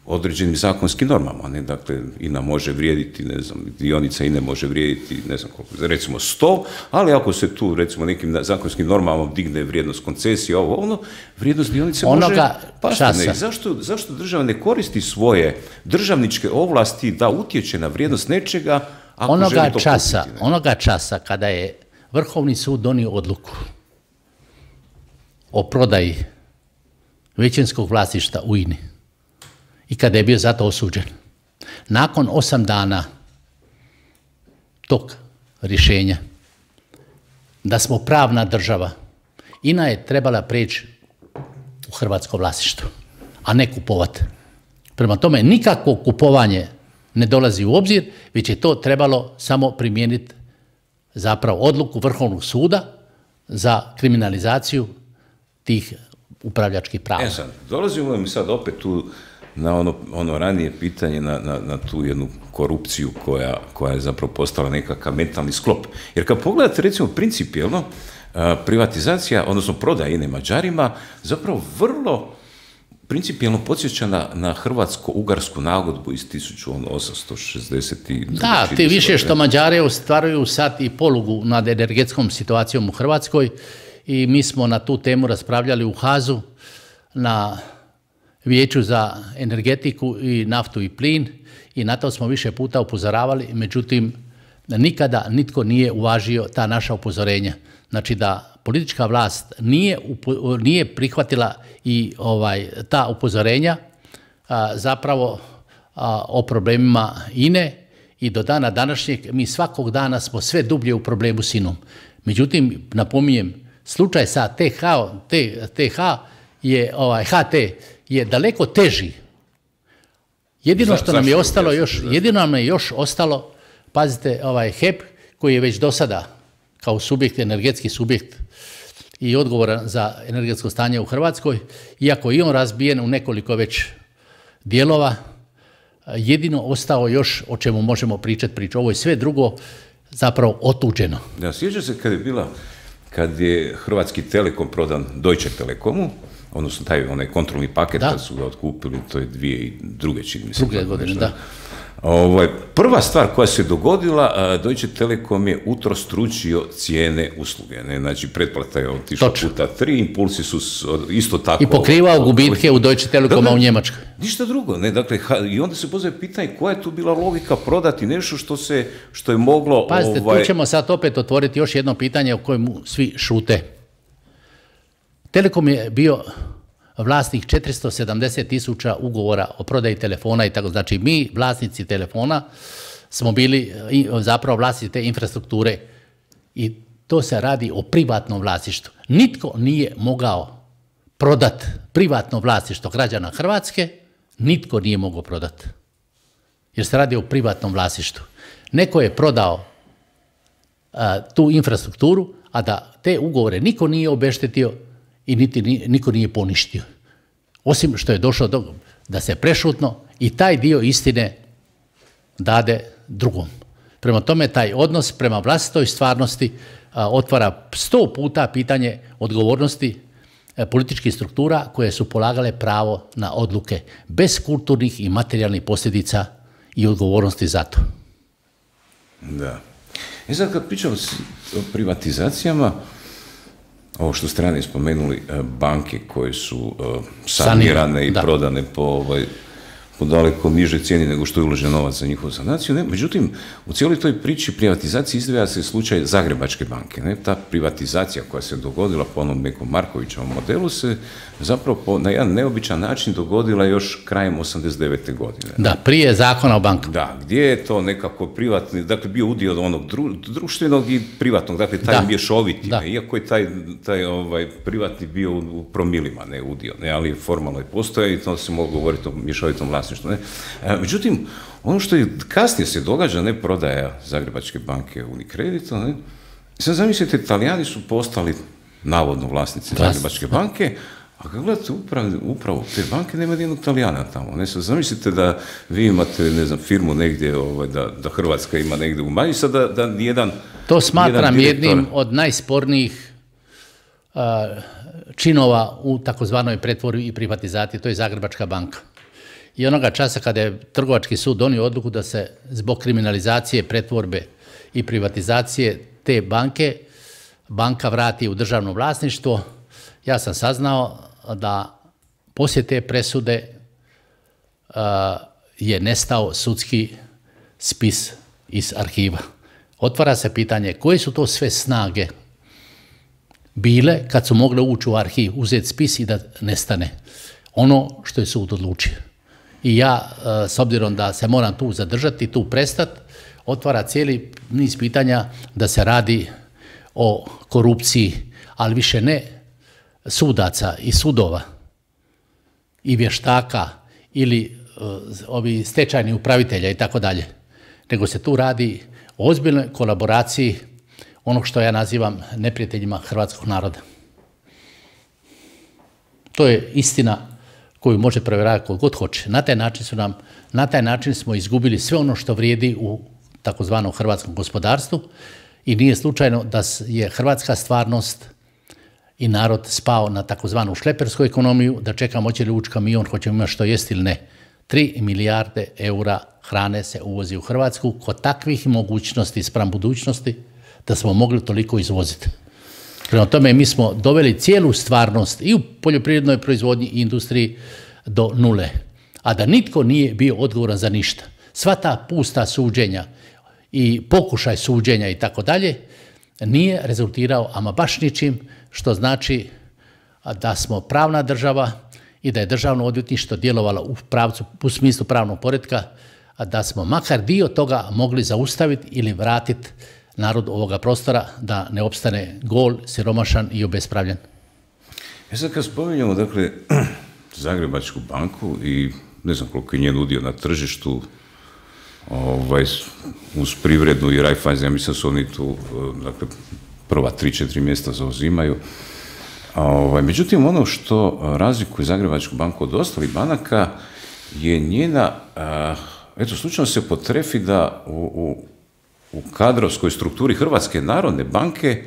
određenim zakonskim normama, ne? Dakle, I N A može vrijediti, ne znam, dionica I N E može vrijediti, ne znam koliko, recimo sto, ali ako se tu, recimo, nekim zakonskim normama digne vrijednost koncesije, ovo, ono, vrijednost dionice može pasti. Ne? Zašto, zašto država ne koristi svoje državničke ovlasti da utječe na vrijednost nečega, ako onoga želi to časa, kupiti? Onoga časa kada je Vrhovni sud donio odluku o prodaji većinskog vlasništva u I N E, i kada je bio zato osuđen. Nakon osam dana tog rješenja, da smo pravna država, I N A je trebala preći u hrvatsko vlasništvo, a ne kupovati. Prema tome, nikakvo kupovanje ne dolazi u obzir, već je to trebalo samo primijeniti zapravo odluku Vrhovnog suda za kriminalizaciju tih upravljačkih prava. E sad, dolazimo mi sad opet tu na ono, ono ranije pitanje, na, na, na tu jednu korupciju koja, koja je zapravo postala nekakav mentalni sklop. Jer kad pogledate, recimo, principijelno, privatizacija, odnosno prodaja I N E Mađarima, zapravo vrlo principijelno podsjeća na, na hrvatsko-ugarsku nagodbu iz tisuću osamsto šezdeset. Da, ti više što Mađare ostvaruju sad i polugu nad energetskom situacijom u Hrvatskoj i mi smo na tu temu raspravljali u Hazu na Vijeću za energetiku i naftu i plin i na to smo više puta upozoravali, međutim nikada nitko nije uvažio ta naša upozorenja. Znači da politička vlast nije, nije prihvatila i ovaj, ta upozorenja a, zapravo a, o problemima I N E i do dana današnjeg mi svakog dana smo sve dublje u problemu s I N om. Međutim, napominjem, slučaj sa T H, T H je, ovaj, H T je daleko teži. Jedino što nam je ostalo još, jedino nam je još ostalo, pazite, ovaj H E P koji je već do sada kao subjekt, energetski subjekt i odgovoran za energetsko stanje u Hrvatskoj, iako i on razbijen u nekoliko već dijelova, jedino ostao još o čemu možemo pričati priču. Ovo je sve drugo zapravo otuđeno. Ja, sjećam se kad je bila, kad je Hrvatski Telekom prodan Deutsche Telekomu, odnosno taj onaj kontrolni paket da. Kad su ga otkupili, to je dvije i druge čini mi se. Druge godine, da. Ovaj, prva stvar koja se dogodila, Deutsche Telekom je utrostručio cijene usluge. Ne? Znači, pretplata je otišla puta tri, impulsi su isto tako... I pokrivao gubitke u Deutsche Telekoma da, da, u Njemačkoj. Ništa drugo. Ne? Dakle, i onda se postavlja pitanje koja je tu bila logika prodati nešto što, se, što je moglo... Pazite, ovaj... tu ćemo sad opet otvoriti još jedno pitanje o kojemu svi šute. Telekom je bio vlasnik četiristo sedamdeset tisuća ugovora o prodaji telefona i tako. Znači, mi, vlasnici telefona, smo bili zapravo vlasnici te infrastrukture i to se radi o privatnom vlasništvu. Nitko nije mogao prodati privatno vlasništvo građana Hrvatske, nitko nije mogao prodati. Jer se radi o privatnom vlasništvu. Neko je prodao a, tu infrastrukturu, a da te ugovore niko nije obeštetio i niti niko nije poništio. Osim što je došlo do, da se prešutno i taj dio istine dade drugom. Prema tome, taj odnos prema vlastitoj stvarnosti a, otvara sto puta pitanje odgovornosti a, političkih struktura koje su polagale pravo na odluke bez kulturnih i materijalnih posljedica i odgovornosti za to. Da. I sad kad pričamo o privatizacijama, ovo što ste ranije spomenuli, banke koje su uh, sanirane i da. prodane po, ovaj, po daleko nižoj cijeni nego što je uložen novac za njihovu sanaciju. Ne? Međutim, u cijeloj toj priči privatizacije izdvaja se slučaj Zagrebačke banke. Ne? Ta privatizacija koja se dogodila po onom nekom Markovićevom modelu se zapravo po, na jedan neobičan način dogodila još krajem osamdeset devete godine. Da, prije zakona o bankama. Da, gdje je to nekako privatni, dakle bio udio od onog dru, društvenog i privatnog, dakle taj da. mješoviti, da. iako je taj, taj ovaj, privatni bio u promilima, ne udio, ne, ali formalno je postoje i to se mogu govoriti o mješovitom vlasništvu. Ne. E, međutim, ono što je kasnije se događa, ne prodaja Zagrebačke banke Unicredita, ne, sad zamislite, Italijani su postali navodno vlasnici Vlasnici. Zagrebačke banke, a kad gledate upravo, upravo te banke, nema nijednog Talijana tamo. Ne, sad zamislite da vi imate, ne znam, firmu negdje, ovaj, da, da Hrvatska ima negdje u manji, sad da, da nijedan... To smatram direktor... jednim od najspornijih uh, činova u takozvanoj pretvorbi i privatizaciji, to je Zagrebačka banka. I onoga časa kada je Trgovački sud donio odluku da se zbog kriminalizacije, pretvorbe i privatizacije te banke, banka vrati u državno vlasništvo, ja sam saznao da poslije te presude uh, je nestao sudski spis iz arhiva. Otvara se pitanje koje su to sve snage bile kad su mogle ući u arhiv, uzeti spis i da nestane ono što je sud odlučio. I ja, uh, s obzirom da se moram tu zadržati, tu prestati, otvara cijeli niz pitanja da se radi o korupciji, ali više ne sudaca i sudova i vještaka ili uh, ovi stečajni upravitelja i tako dalje, nego se tu radi o ozbiljnoj kolaboraciji onog što ja nazivam neprijateljima hrvatskog naroda. To je istina koju može provjeravati kod god hoće. Na taj način su nam, na taj način smo izgubili sve ono što vrijedi u takozvanom hrvatskom gospodarstvu i nije slučajno da je hrvatska stvarnost i narod spao na takozvanu šlepersku ekonomiju, da čekamo hoće li ući kamion, hoćemo imati što jest ili ne. Tri milijarde eura hrane se uvozi u Hrvatsku kod takvih mogućnosti spram budućnosti da smo mogli toliko izvoziti. Prema tome mi smo doveli cijelu stvarnost i u poljoprivrednoj proizvodnji i industriji do nule, a da nitko nije bio odgovoran za ništa. Sva ta pusta suđenja i pokušaj suđenja i tako dalje nije rezultirao ama baš ničim, što znači da smo pravna država i da je državno odvjetništvo djelovalo u pravcu, u smislu pravnog poretka, a da smo makar dio toga mogli zaustaviti ili vratiti narod ovoga prostora da ne opstane gol, siromašan i obespravljen. E sad kad spominjamo, dakle, Zagrebačku banku i ne znam koliko je njen udio na tržištu, ovaj, uz Privrednu i Raiffeisen, ja mislim da su oni tu, dakle, prva tri, četiri mjesta zauzimaju. Ovaj, međutim, ono što razlikuje Zagrebačku banku od ostalih banaka je njena, a, eto, slučajno se potrefi da u, u, u kadrovskoj strukturi Hrvatske narodne banke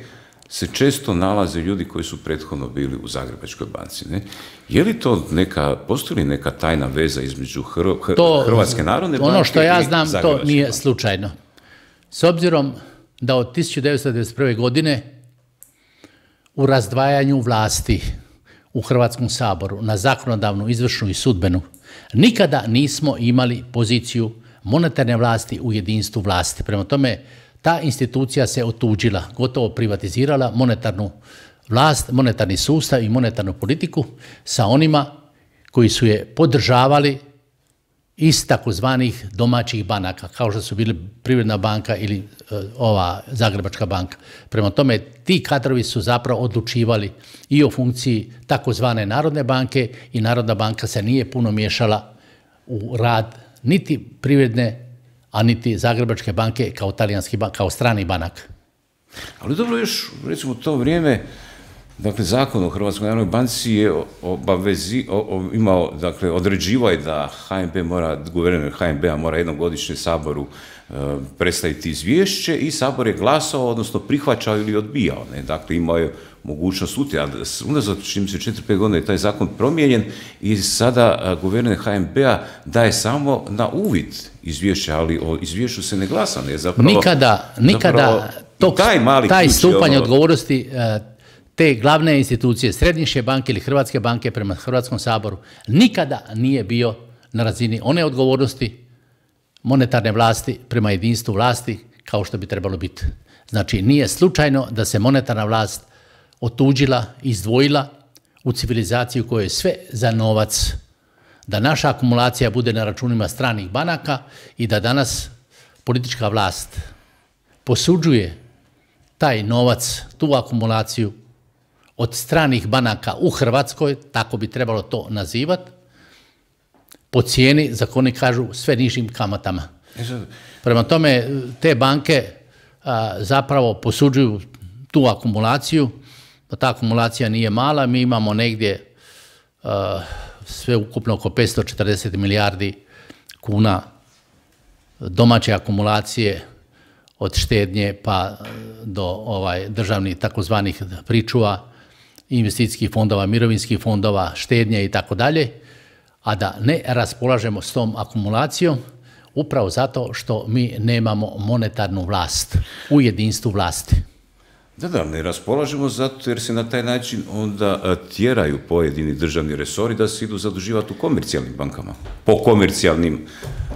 se često nalaze ljudi koji su prethodno bili u Zagrebačkoj banci. Ne? Je li to neka, postoji li neka tajna veza između Hr to, Hrvatske narodne banke i ono što ja znam, to nije banke? Slučajno. S obzirom da od tisuću devetsto devedeset prve. godine u razdvajanju vlasti u Hrvatskom saboru na zakonodavnu, izvršnu i sudbenu nikada nismo imali poziciju monetarne vlasti u jedinstvu vlasti. Prema tome, ta institucija se otuđila, gotovo privatizirala monetarnu vlast, monetarni sustav i monetarnu politiku sa onima koji su je podržavali iz takozvanih domaćih banaka, kao što su bili Privredna banka ili uh, ova Zagrebačka banka. Prema tome, ti kadrovi su zapravo odlučivali i o funkciji takozvane Narodne banke i Narodna banka se nije puno miješala u rad niti Privredne, a niti Zagrebačke banke kao, talijanski, kao strani banak. Ali dobro, još recimo u to vrijeme, dakle, zakon o Hrvatskoj narodnoj banci je obavezi, o, o, imao, dakle, određivao je da H N B mora, guverner H N B-a mora jednom godišnje Saboru e, predstaviti izvješće i Sabor je glasao, odnosno prihvaćao ili odbijao. Ne? Dakle, imao je mogućnost utjecaja. Unazad, čini se, četiri pet godina je taj zakon promijenjen i sada a, guverner H N B-a daje samo na uvid izvješće, ali o izvješću se ne glasa. Ne? Zapravo, nikada, nikada zapravo, tog, taj, mali taj ključ, stupanj ono, odgovornosti te glavne institucije, Središnje banke ili Hrvatske banke prema Hrvatskom saboru, nikada nije bio na razini one odgovornosti monetarne vlasti prema jedinstvu vlasti kao što bi trebalo biti. Znači, nije slučajno da se monetarna vlast otuđila, izdvojila u civilizaciju koja je sve za novac, da naša akumulacija bude na računima stranih banaka i da danas politička vlast posuđuje taj novac, tu akumulaciju od stranih banaka u Hrvatskoj, tako bi trebalo to nazivati, po cijeni, za koje oni kažu, sve nižim kamatama. Prema tome, te banke a, zapravo posuđuju tu akumulaciju, da ta akumulacija nije mala, mi imamo negdje a, sve ukupno oko petsto četrdeset milijardi kuna domaće akumulacije od štednje pa do ovaj, državnih takozvanih pričuva, investicijskih fondova, mirovinskih fondova, štednje i tako dalje, a da ne raspolažemo s tom akumulacijom upravo zato što mi nemamo monetarnu vlast u jedinstvu vlasti. Da, da, ne raspolažemo zato jer se na taj način onda tjeraju pojedini državni resori da se idu zaduživati u komercijalnim bankama, po komercijalnim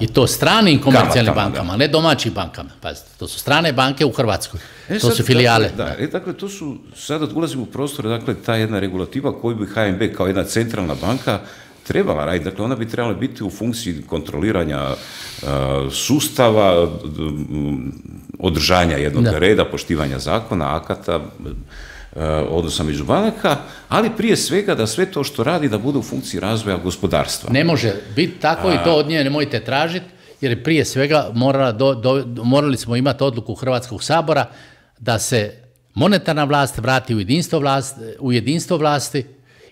i to stranim komercijalnim kamatama, bankama, da. Ne domaćim bankama. Pazite, to su strane banke u Hrvatskoj, e, to sad, su filijale. Dakle, da, e, dakle, to su, sada ulazimo u prostor, dakle, ta jedna regulativa koju bi H N B kao jedna centralna banka trebala raditi. Dakle, ona bi trebala biti u funkciji kontroliranja uh, sustava, uh, održanja jednog da. reda, poštivanja zakona, akata, uh, odnosa među banaka, ali prije svega da sve to što radi da bude u funkciji razvoja gospodarstva. Ne može biti tako A... i to od nje nemojte tražiti, jer prije svega morala do, do, morali smo imati odluku Hrvatskog sabora da se monetarna vlast vrati u jedinstvo, vlast, u jedinstvo vlasti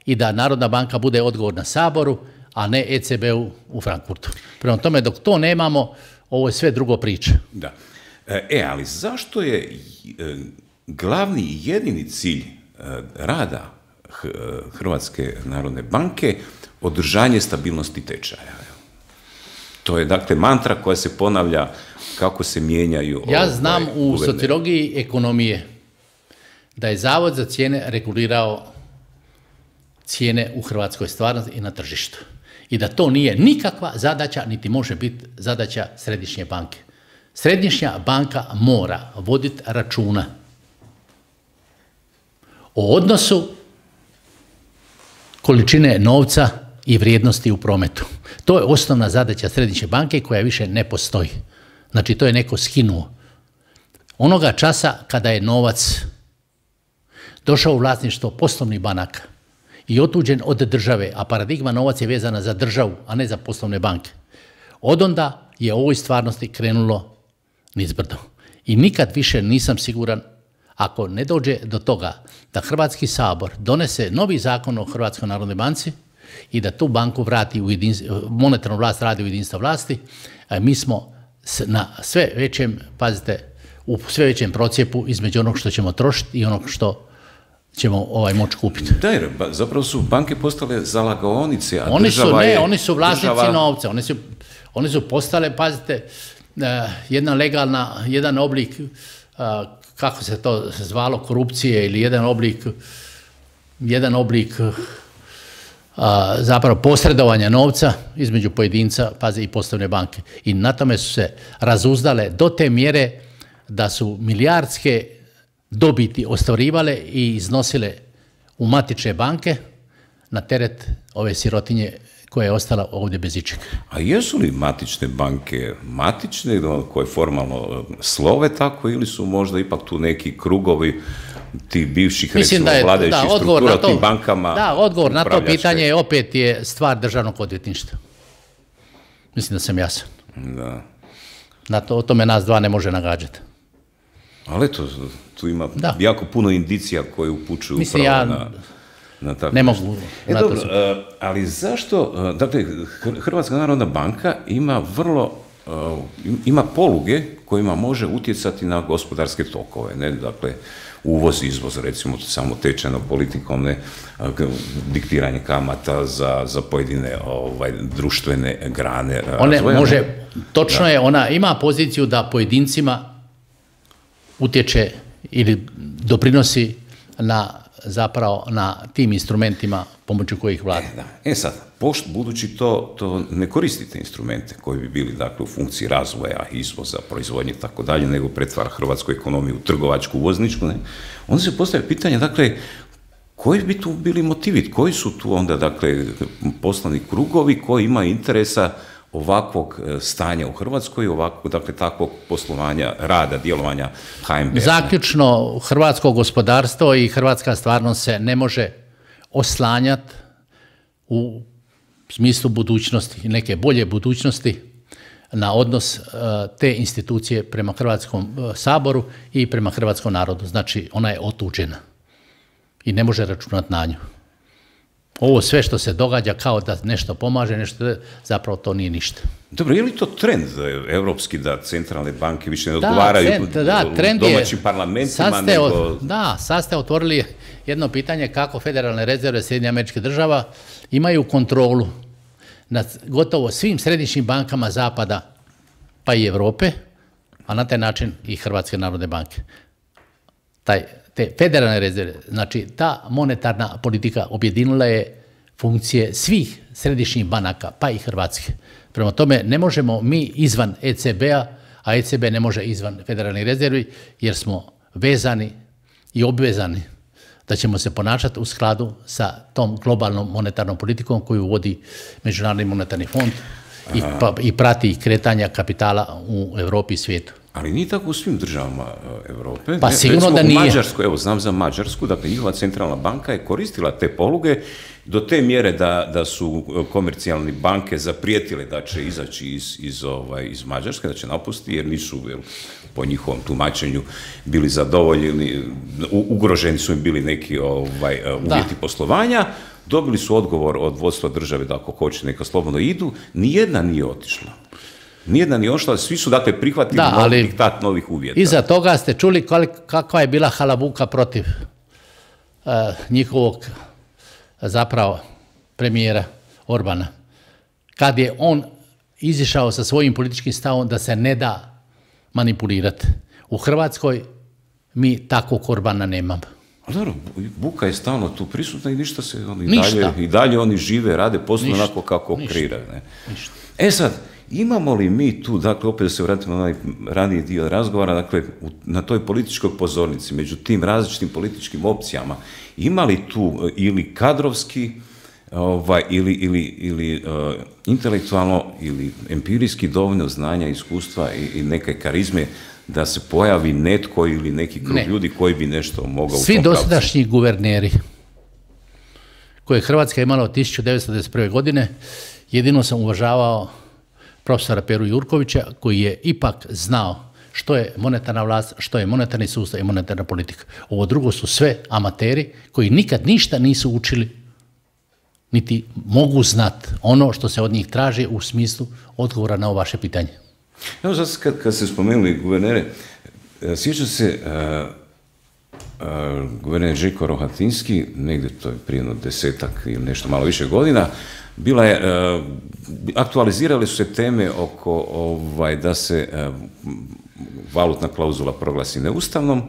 i da Narodna banka bude odgovorna Saboru, a ne E C B-u u Frankfurtu. Prema tome, dok to nemamo, ovo je sve drugo priča. Da. E, ali zašto je glavni i jedini cilj rada Hrvatske narodne banke održanje stabilnosti tečaja? To je, dakle, mantra koja se ponavlja kako se mijenjaju... Ja znam ovaj, u guverne. sociologiji ekonomije da je Zavod za cijene regulirao cijene u hrvatskoj stvarnosti i na tržištu. I da to nije nikakva zadaća, niti može biti zadaća središnje banke. Središnja banka mora voditi računa o odnosu količine novca i vrijednosti u prometu. To je osnovna zadaća središnje banke koja više ne postoji. Znači, to je neko skinuo. Onoga časa kada je novac došao u vlasništvo poslovnih banaka i otuđen od države, a paradigma novac je vezana za državu, a ne za poslovne banke, odonda je u ovoj stvarnosti krenulo nizbrdo. I nikad više nisam siguran, ako ne dođe do toga da Hrvatski sabor donese novi zakon o Hrvatskoj narodnoj banci i da tu banku vrati u monetarnu vlast, radi u jedinstvo vlasti, mi smo na sve većem, pazite, u sve većem procijepu između onog što ćemo trošiti i onog što ćemo ovaj moći kupiti. Da, jer zapravo su banke postale zalagaonice, a oni država su, ne, je... oni su vlasnici država... novca, oni su, oni su postale, pazite, jedna legalna, jedan oblik, kako se to zvalo, korupcije ili jedan oblik, jedan oblik zapravo posredovanja novca između pojedinca, pazi, i poslovne banke. I na tome su se razuzdale do te mjere da su milijardske dobiti ostvarivale i iznosile u matične banke na teret ove sirotinje koja je ostala ovdje bez ičega. A jesu li matične banke matične, koje formalno slove tako, ili su možda ipak tu neki krugovi tih bivših, recimo, vladajućih struktura u tim bankama? Da, odgovor na to pitanje je opet je stvar državnog odvjetništva. Mislim da sam jasan. Da. Na to, o tome nas dva ne može nagađati. Ali eto, tu ima da. jako puno indicija koje upućuju Mislim, upravo ja na, na tako ne mogu. E, dobro, uh, ali zašto, uh, dakle, Hrvatska narodna banka ima vrlo, uh, ima poluge kojima može utjecati na gospodarske tokove, ne, dakle, uvoz, izvoz, recimo, samo tečajnom politikom, ne, diktiranje kamata za, za pojedine ovaj, društvene grane razvoja. Može, točno da. je, ona ima poziciju da pojedincima utječe ili doprinosi na zapravo na tim instrumentima pomoću kojih vlada. E, da. e sad, pošto, budući to, to ne koristite instrumente koji bi bili, dakle, u funkciji razvoja, izvoza, proizvodnje i tako dalje, nego pretvara hrvatsku ekonomiju u trgovačku, uvozničku, ne, onda se postavlja pitanje, dakle, koji bi tu bili motivi, koji su tu onda, dakle, poslovni krugovi koji imaju interesa ovakvog stanja u Hrvatskoj, ovakvog, dakle, takvog poslovanja, rada, djelovanja H N B. Zaključno, hrvatsko gospodarstvo i hrvatska stvarnost se ne može oslanjati u smislu budućnosti, neke bolje budućnosti, na odnos te institucije prema Hrvatskom saboru i prema hrvatskom narodu. Znači, ona je otuđena i ne može računati na nju. Ovo sve što se događa kao da nešto pomaže, nešto, zapravo to nije ništa. Dobro, je li to trend evropski da centralne banke više ne odgovaraju da, da, trend domaćim je, parlamentima? Sad nego... od, da, sad ste otvorili jedno pitanje kako federalne rezerve Sjedinjenih Američkih Država imaju kontrolu nad gotovo svim središnjim bankama Zapada pa i Europe, a na taj način i Hrvatske narodne banke. Taj, te federalne rezerve, znači ta monetarna politika objedinila je funkcije svih središnjih banaka, pa i Hrvatske. Prema tome, ne možemo mi izvan E C B-a, a E C B ne može izvan federalnih rezervi, jer smo vezani i obvezani da ćemo se ponašati u skladu sa tom globalnom monetarnom politikom koju vodi Međunarodni monetarni fond i, pa, i prati kretanja kapitala u Europi i svijetu. Ali nije tako u svim državama Europe. Pa sigurno da nije. U Mađarsku, evo znam za Mađarsku, dakle njihova centralna banka je koristila te poluge do te mjere da, da su komercijalne banke zaprijetile da će izaći iz, iz, ovaj, iz Mađarske, da će napustiti jer nisu jel, po njihovom tumačenju bili zadovoljeni, ugroženi su im bili neki ovaj, uvjeti da. poslovanja. Dobili su odgovor od vodstva države da ako hoće neka slobodno idu, nijedna nije otišla. Nijedna nije ošla, svi su dakle prihvatili da, novi diktat novih uvjeta. Iza toga ste čuli kakva je bila halabuka protiv uh, njihovog zapravo premijera Orbana. Kad je on izišao sa svojim političkim stavom da se ne da manipulirati. U Hrvatskoj mi takvog Orbana nemamo. Ali dobro, buka je stalno tu prisutna i ništa se oni i dalje, i dalje oni žive, rade poslu onako kako kreiraju. Ne? E sad, imamo li mi tu, dakle, opet da se vratimo na onaj raniji dio razgovora, dakle, na toj političkoj pozornici, među tim različitim političkim opcijama, ima li tu ili kadrovski, ovaj, ili, ili, ili uh, intelektualno, ili empirijski dovoljno znanja, iskustva i, i neke karizme da se pojavi netko ili neki krug ne. ljudi koji bi nešto mogao Svi u tom dosadašnji pravcu. Guverneri koje je Hrvatska imala od tisuću devetsto devedeset prve. godine, jedino sam uvažavao profesora Peru Jurkovića, koji je ipak znao što je monetarna vlast, što je monetarni sustav i monetarna politika. Ovo drugo su sve amateri koji nikad ništa nisu učili, niti mogu znati ono što se od njih traži u smislu odgovora na ovo vaše pitanje. Evo sad kad, kad ste spomenuli guvernere, sjećam se uh, uh, guverner Željko Rohatinski, negdje to je prije jedno desetak ili nešto malo više godina, bila je, uh, aktualizirale su se teme oko ovaj, da se uh, valutna klauzula proglasi neustavnom,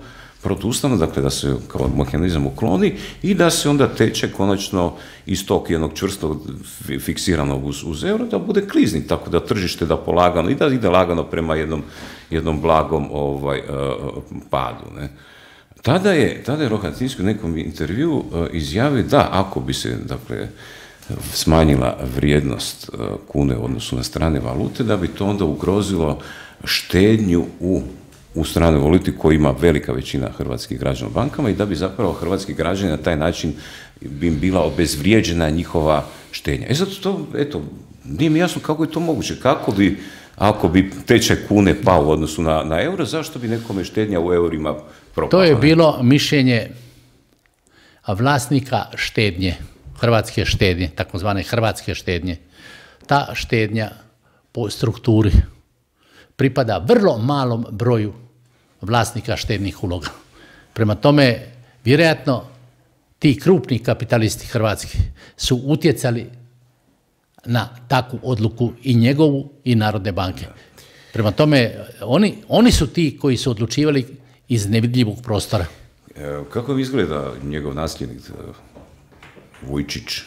protuustavno, dakle da se kao mehanizam ukloni i da se onda tečaj konačno iz tog jednog čvrstog fiksiranog uz, uz euro da bude klizni, tako da tržište da polagano i da ide lagano prema jednom, jednom blagom ovaj, uh, padu. Ne. Tada je, tada je Rohatinski u nekom intervju uh, izjavio da ako bi se, dakle, smanjila vrijednost uh, kune u odnosu na strane valute, da bi to onda ugrozilo štednju u u stranoj valuti koji ima velika većina hrvatskih građana u bankama i da bi zapravo hrvatski građani na taj način bi im bila obezvrijeđena njihova štednja. E zato to, eto, nije mi jasno kako je to moguće. Kako bi, ako bi tečaj kune pao u odnosu na, na euro, zašto bi nekome štednja u eurima propala? To je bilo mišljenje vlasnika štednje, hrvatske štednje, takozvane hrvatske štednje. Ta štednja po strukturi pripada vrlo malom broju vlasnika štednih uloga. Prema tome, vjerojatno, ti krupni kapitalisti hrvatski su utjecali na takvu odluku i njegovu i Narodne banke. Prema tome, oni, oni su ti koji su odlučivali iz nevidljivog prostora. E, kako izgleda njegov nasljednik, Vujčić,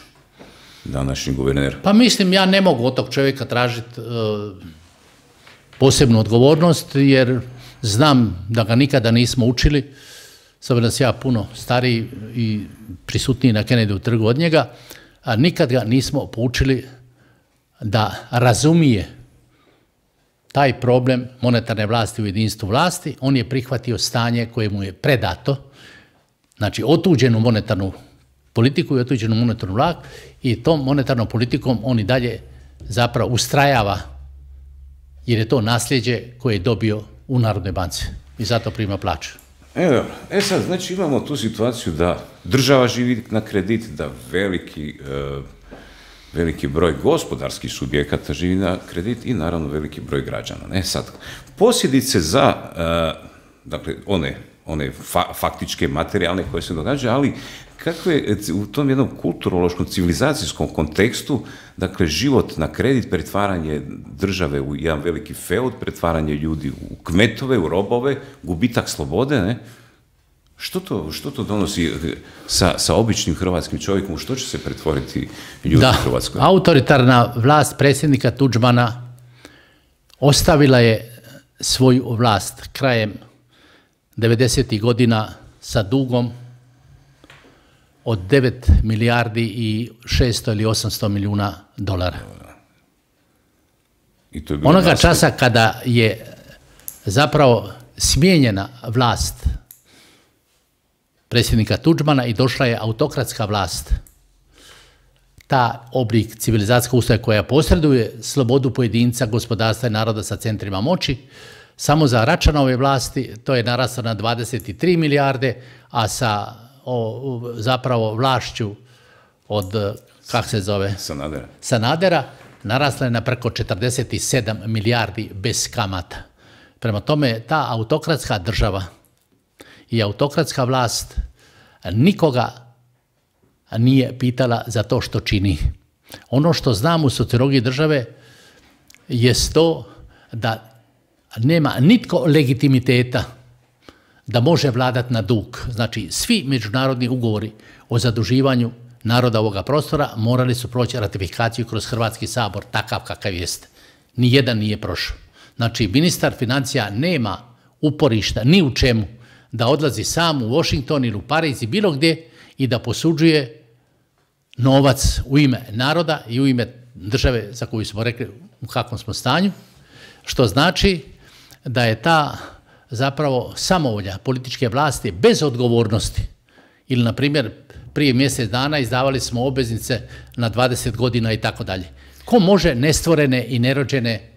današnji guverner? Pa mislim, ja ne mogu od tog čovjeka tražiti uh, posebnu odgovornost, jer znam da ga nikada nismo učili, sad da sam ja puno stariji i prisutniji na Kennedy trgu od njega, a nikad ga nismo poučili da razumije taj problem monetarne vlasti u jedinstvu vlasti. On je prihvatio stanje koje mu je predato, znači otuđenu monetarnu politiku i otuđenu monetarnu vlast, i tom monetarnom politikom on i dalje zapravo ustrajava, jer je to nasljeđe koje je dobio u Narodnoj banci i zato prima plaću. E, e sad, znači imamo tu situaciju da država živi na kredit, da veliki, e, veliki broj gospodarskih subjekata živi na kredit i naravno veliki broj građana. E sad, posljedice za e, dakle, one, one fa, faktičke, materijalne koje se događaju, ali kakve u tom jednom kulturološkom, civilizacijskom kontekstu, dakle, život na kredit, pretvaranje države u jedan veliki feud, pretvaranje ljudi u kmetove, u robove, gubitak slobode, ne? Što to, što to donosi sa, sa običnim hrvatskim čovjekom, što će se pretvoriti ljudi da, u Hrvatskoj? Da, autoritarna vlast predsjednika Tuđmana ostavila je svoju vlast krajem devedesetih godina sa dugom od devet milijardi i šesto ili osamsto milijuna dolara. I to je onoga nastav... časa kada je zapravo smijenjena vlast predsjednika Tuđmana i došla je autokratska vlast, ta oblik civilizacijskog ustroja koja posreduje slobodu pojedinca, gospodarstva i naroda sa centrima moći, samo za Račanove vlasti to je naraslo na dvadeset tri milijarde, a sa o, zapravo vlašću od, kak se zove? Sanadera. Sanadera, narasla je na preko četrdeset sedam milijardi bez kamata. Prema tome, ta autokratska država i autokratska vlast nikoga nije pitala za to što čini. Ono što znam u sociologiji države je to da nema nitko legitimiteta da može vladati na dug. Znači, svi međunarodni ugovori o zaduživanju naroda ovoga prostora morali su proći ratifikaciju kroz Hrvatski sabor, takav kakav jeste. Nijedan nije prošao. Znači, ministar financija nema uporišta ni u čemu da odlazi sam u Washington ili u Pariz i bilo gdje i da posuđuje novac u ime naroda i u ime države za koju smo rekli u kakvom smo stanju, što znači da je ta zapravo samovolja političke vlasti bez odgovornosti. Ili, na primjer, prije mjesec dana izdavali smo obveznice na dvadeset godina i tako dalje. Ko može nestvorene i nerođene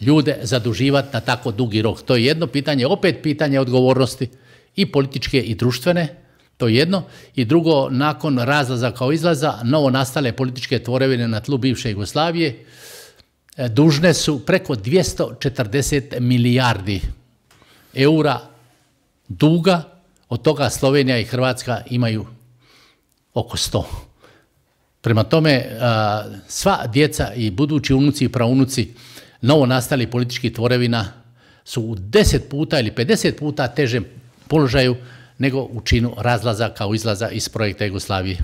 ljude zaduživati na tako dugi rok? To je jedno pitanje, opet pitanje odgovornosti i političke i društvene, to je jedno. I drugo, nakon razlaza kao izlaza, novo nastale političke tvorevine na tlu bivše Jugoslavije dužne su preko dvjesto četrdeset milijardi eura duga, od toga Slovenija i Hrvatska imaju oko sto. Prema tome, sva djeca i budući unuci i praunuci novo nastali političkih tvorevina su u deset puta ili pedeset puta težem položaju nego u činu razlaza kao izlaza iz projekta Jugoslavije.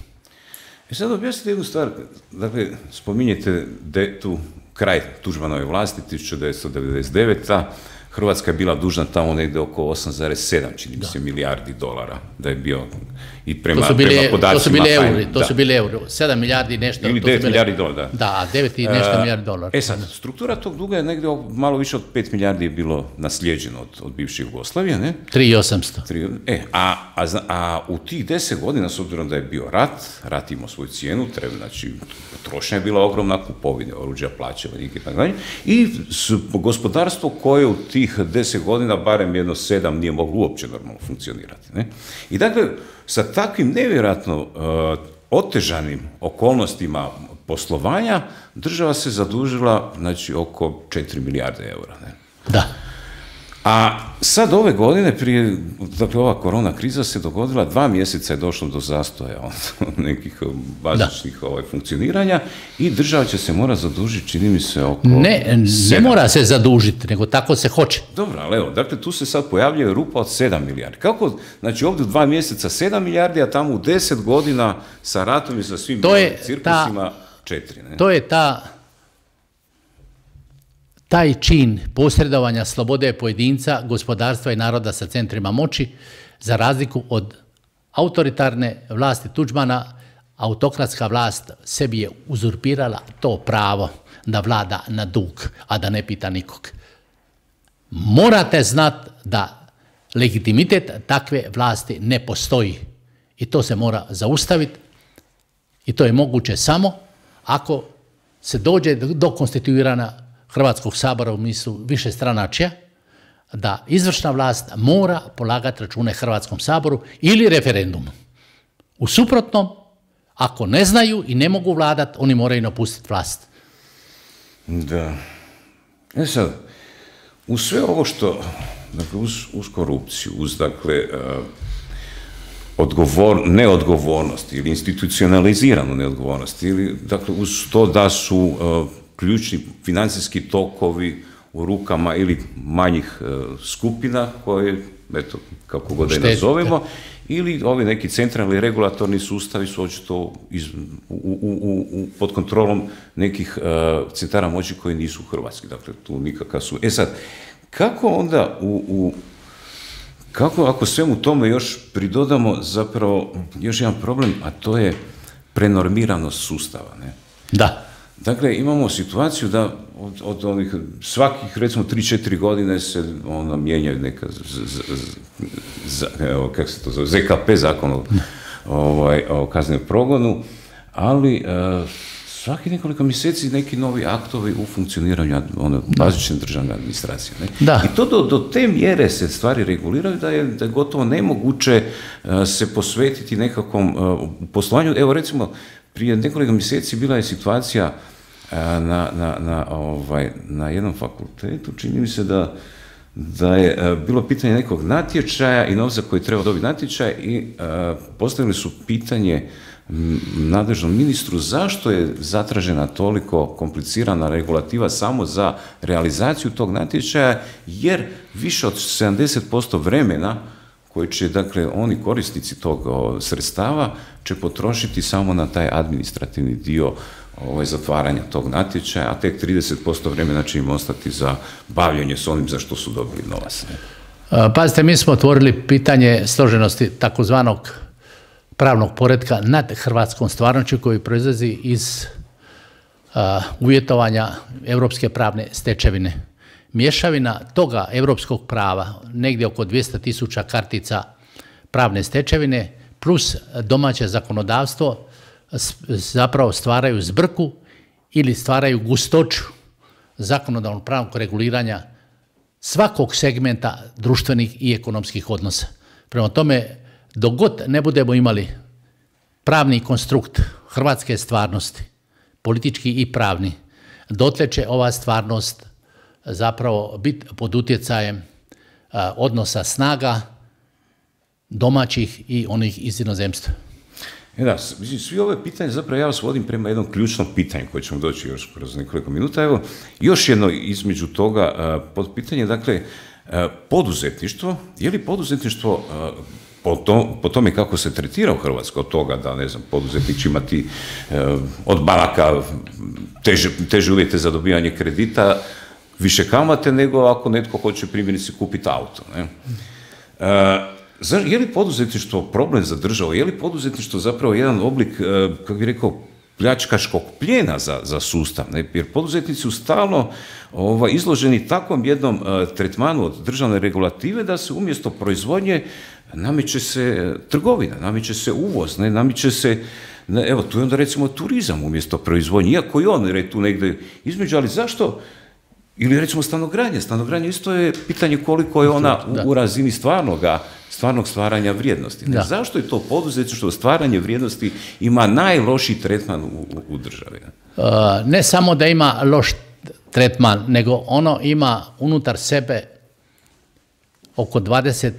I sad objasnite jednu stvar, dakle, spominjete de, tu kraj Tuđmanove vlasti, tisuću devetsto devedeset deveta. Hrvatska je bila dužna tamo negdje oko osam zarez sedam, čini mi se, milijardi dolara, da je bio i prema, to bile, prema podacima... To su bili euri, to da. su bili euri, sedam milijardi nešto... Ili devet milijardi dolara, da. Da, devet i nešto uh, milijardi dolara. E sad, struktura tog duga je negdje malo više od pet milijardi je bilo naslijeđeno od, od bivše Jugoslavije, ne? tri i osamsto. E, a, a, a u tih deset godina, s obzirom da je bio rat, rat imao svoju cijenu, treba, znači, potrošnja je bila ogromna, kupovine, oruđa, plaće, i tako dalje, i gospodarstvo koje u tih deset godina, barem jedno sedam, nije moglo uopće normalno funkcionirati. Ne? I dakle, sa takvim nevjerojatno uh, otežanim okolnostima poslovanja, država se zadužila, znači, oko četiri milijarde eura. Ne? Da. A sad ove godine, prije, dakle, ova korona kriza se dogodila, dva mjeseca je došlo do zastoja od nekih bazičnih ovaj, funkcioniranja i država će se mora zadužiti, čini mi se, oko Ne, ne mora se zadužiti, nego tako se hoće. Dobro, ali evo, dakle, tu se sad pojavljuje rupa od sedam milijardi. Kako, znači, ovdje u dva mjeseca sedam milijardi, a tamo u deset godina sa ratom i sa svim cirkusima četiri. Ne? To je ta... Taj čin posredovanja slobode pojedinca, gospodarstva i naroda sa centrima moći, za razliku od autoritarne vlasti Tuđmana, autokratska vlast sebi je uzurpirala to pravo da vlada na dug, a da ne pita nikog. Morate znati da legitimitet takve vlasti ne postoji i to se mora zaustaviti i to je moguće samo ako se dođe do konstituirana Hrvatskog sabora u mislu više stranačja, da izvršna vlast mora polagati račune Hrvatskom saboru ili referendumom. U suprotnom, ako ne znaju i ne mogu vladati, oni moraju napustiti vlast. Da. E sad, uz sve ovo što, dakle, uz, uz korupciju, uz, dakle, uh, odgovor, neodgovornost ili institucionaliziranu neodgovornost, ili, dakle, uz to da su uh, ključni financijski tokovi u rukama ili manjih uh, skupina koje, eto, kako god da je nazovemo, ili ovi neki centralni regulatorni sustavi su očito iz, u, u, u, pod kontrolom nekih uh, centara moći koji nisu hrvatski, dakle tu nikakav su. E sad, kako onda u, u kako ako svemu tome još pridodamo zapravo još jedan problem, a to je prenormiranost sustava, ne? Da. Dakle, imamo situaciju da od, od onih svakih, recimo, tri četiri godine se ona mijenjaju neka, z, z, z, evo, kako se to zove, Z K P, zakon o, ovaj, o kaznenom progonu, ali uh, svaki nekoliko mjeseci neki novi aktovi u funkcioniranju ono, bazične državne administracije. Ne? Da. I to do, do te mjere se stvari reguliraju da je, da je gotovo nemoguće uh, se posvetiti nekakvom uh, poslovanju. Evo, recimo, prije nekoliko mjeseci bila je situacija na, na, na, ovaj, na jednom fakultetu, čini mi se da, da je bilo pitanje nekog natječaja i novca koji treba dobiti natječaj i uh, postavili su pitanje nadležnom ministru zašto je zatražena toliko komplicirana regulativa samo za realizaciju tog natječaja, jer više od sedamdeset posto vremena koji će, dakle, oni korisnici tog o, sredstava će potrošiti samo na taj administrativni dio ovaj, zatvaranja tog natječaja, a tek trideset posto vremena će im ostati za bavljanje s onim za što su dobili novac. Pazite, mi smo otvorili pitanje složenosti takozvanog pravnog poretka nad hrvatskom stvarnošću koji proizlazi iz uh, uvjetovanja europske pravne stečevine. Mješavina toga europskog prava, negdje oko dvjesto tisuća kartica pravne stečevine, plus domaće zakonodavstvo, zapravo stvaraju zbrku ili stvaraju gustoću zakonodavnog pravnog reguliranja svakog segmenta društvenih i ekonomskih odnosa. Prema tome, dok god ne budemo imali pravni konstrukt hrvatske stvarnosti, politički i pravni, dotle će ova stvarnost zapravo biti pod utjecajem a, odnosa snaga domaćih i onih iz inozemstva. E da, svi ove pitanje, zapravo ja vas vodim prema jednom ključnom pitanju koje ćemo doći još kroz nekoliko minuta. Evo, još jedno između toga pod pitanje, dakle, poduzetništvo, je li poduzetništvo po, to, po tome kako se tretira u Hrvatskoj, od toga da, ne znam, poduzetnik će imati od banaka teže, teže uvjete za dobivanje kredita, više kamate nego ako netko hoće primjerice kupiti auto, ne? Je li poduzetništvo problem za državu? Je li poduzetništvo zapravo jedan oblik, kako bih rekao, pljačkaškog plijena za, za sustav? Ne? Jer poduzetnici su stalno ovaj, izloženi takvom jednom uh, tretmanu od državne regulative da se umjesto proizvodnje nameće se trgovina, nameće se uvoz, ne? Nameće se, ne, evo tu je onda recimo turizam umjesto proizvodnje, iako i on je tu negdje između, ali zašto? Ili recimo stanogradnja. Stanogradnja isto je pitanje koliko je ona u, u razini stvarnoga, stvarnog stvaranja vrijednosti. Ne? Zašto je to poduzetništvo, stvaranje vrijednosti ima najlošiji tretman u, u, u državi? Uh, ne samo da ima loš tretman, nego ono ima unutar sebe oko dvadeset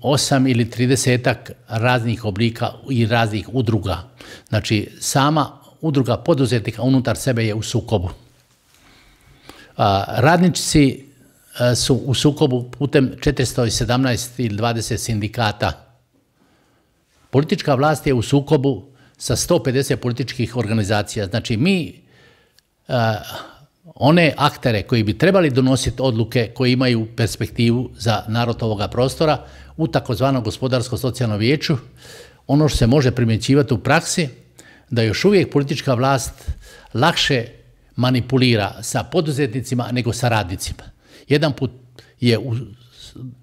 osam ili tridesetak raznih oblika i raznih udruga. Znači, sama udruga poduzetnika unutar sebe je u sukobu. Radnici su u sukobu putem četiristo sedamnaest ili dvadeset sindikata. Politička vlast je u sukobu sa sto pedeset političkih organizacija. Znači mi one aktere koji bi trebali donositi odluke koji imaju perspektivu za narod ovoga prostora u takozvanom gospodarsko-socijalnom vijeću, ono što se može primjećivati u praksi, da još uvijek politička vlast lakše manipulira sa poduzetnicima nego sa radnicima. Jedan put je u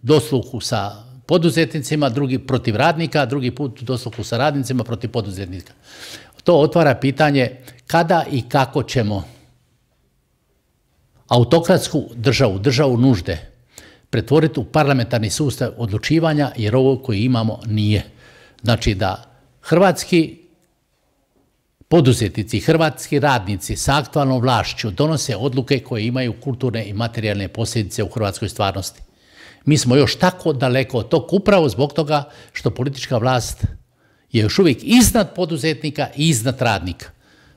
dosluhu sa poduzetnicima, drugi protiv radnika, drugi put u dosluhu sa radnicima protiv poduzetnika. To otvara pitanje kada i kako ćemo autokratsku državu, državu nužde, pretvoriti u parlamentarni sustav odlučivanja, jer ovo koji imamo nije. Znači da hrvatski poduzetnici, hrvatski radnici sa aktualnom vlašću donose odluke koje imaju kulturne i materijalne posljedice u hrvatskoj stvarnosti. Mi smo još tako daleko od tog upravo zbog toga što politička vlast je još uvijek iznad poduzetnika i iznad radnika.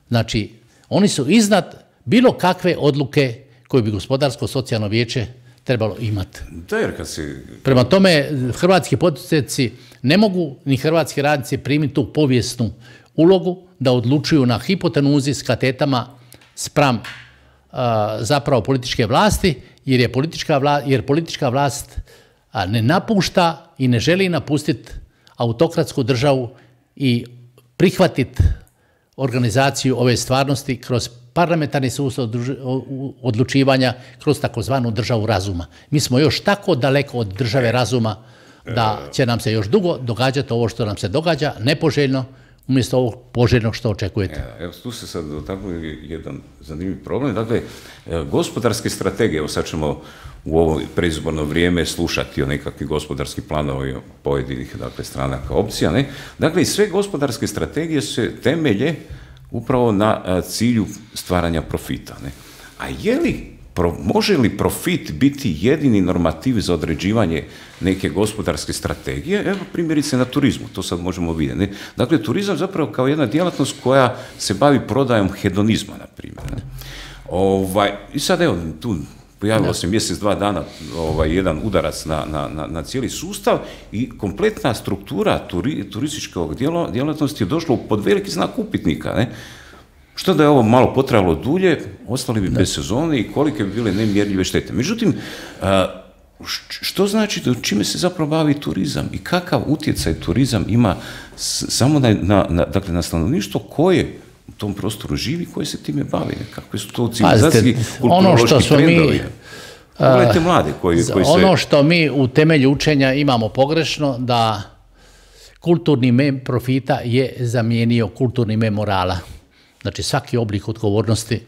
Znači, oni su iznad bilo kakve odluke koje bi gospodarsko-socijalno vijeće trebalo imati. Da, jer kad si... Prema tome, hrvatski poduzetnici ne mogu ni hrvatski radnici primiti tu povijesnu ulogu da odlučuju na hipotenuzi s katetama spram uh, zapravo političke vlasti, jer je politička, vla, jer politička vlast a, ne napušta i ne želi napustiti autokratsku državu i prihvatiti organizaciju ove stvarnosti kroz parlamentarni sustav odlučivanja, kroz takozvanu državu razuma. Mi smo još tako daleko od države razuma da će nam se još dugo događati ovo što nam se događa, nepoželjno, umjesto ovog poželjnog što očekujete. Evo, tu se sad dotaknuli jedan zanimljiv problem. Dakle, gospodarske strategije, evo sad ćemo u ovo predizborno vrijeme slušati o nekakvih gospodarskih planova pojedinih, dakle, stranaka, opcija, ne? Dakle, i sve gospodarske strategije se temelje upravo na cilju stvaranja profita, ne? A je li pro, može li profit biti jedini normativ za određivanje neke gospodarske strategije? Evo primjerice na turizmu, to sad možemo vidjeti. Ne? Dakle, turizam zapravo kao jedna djelatnost koja se bavi prodajom hedonizma, na primjer. Ne? Ovaj, I sad evo, tu pojavilo se mjesec, dva dana ovaj, jedan udarac na, na, na, na cijeli sustav i kompletna struktura turi, turističkog djelo, djelatnosti je došla pod veliki znak upitnika. Ne? Što da je ovo malo potrajalo dulje, ostali bi bez sezone i kolike bi bile nemjerljive štete. Međutim, što znači da čime se zapravo bavi turizam i kakav utjecaj turizam ima samo na, na, na, dakle, na stanovništvo koje u tom prostoru živi, koje se time bavi, kakve su to civilizacijski, kulturološki trendovi. Pogledajte mlade koji, koji se... Ono što mi u temelju učenja imamo pogrešno, da kulturni mem profita je zamijenio kulturni mem morala. Znači svaki oblik odgovornosti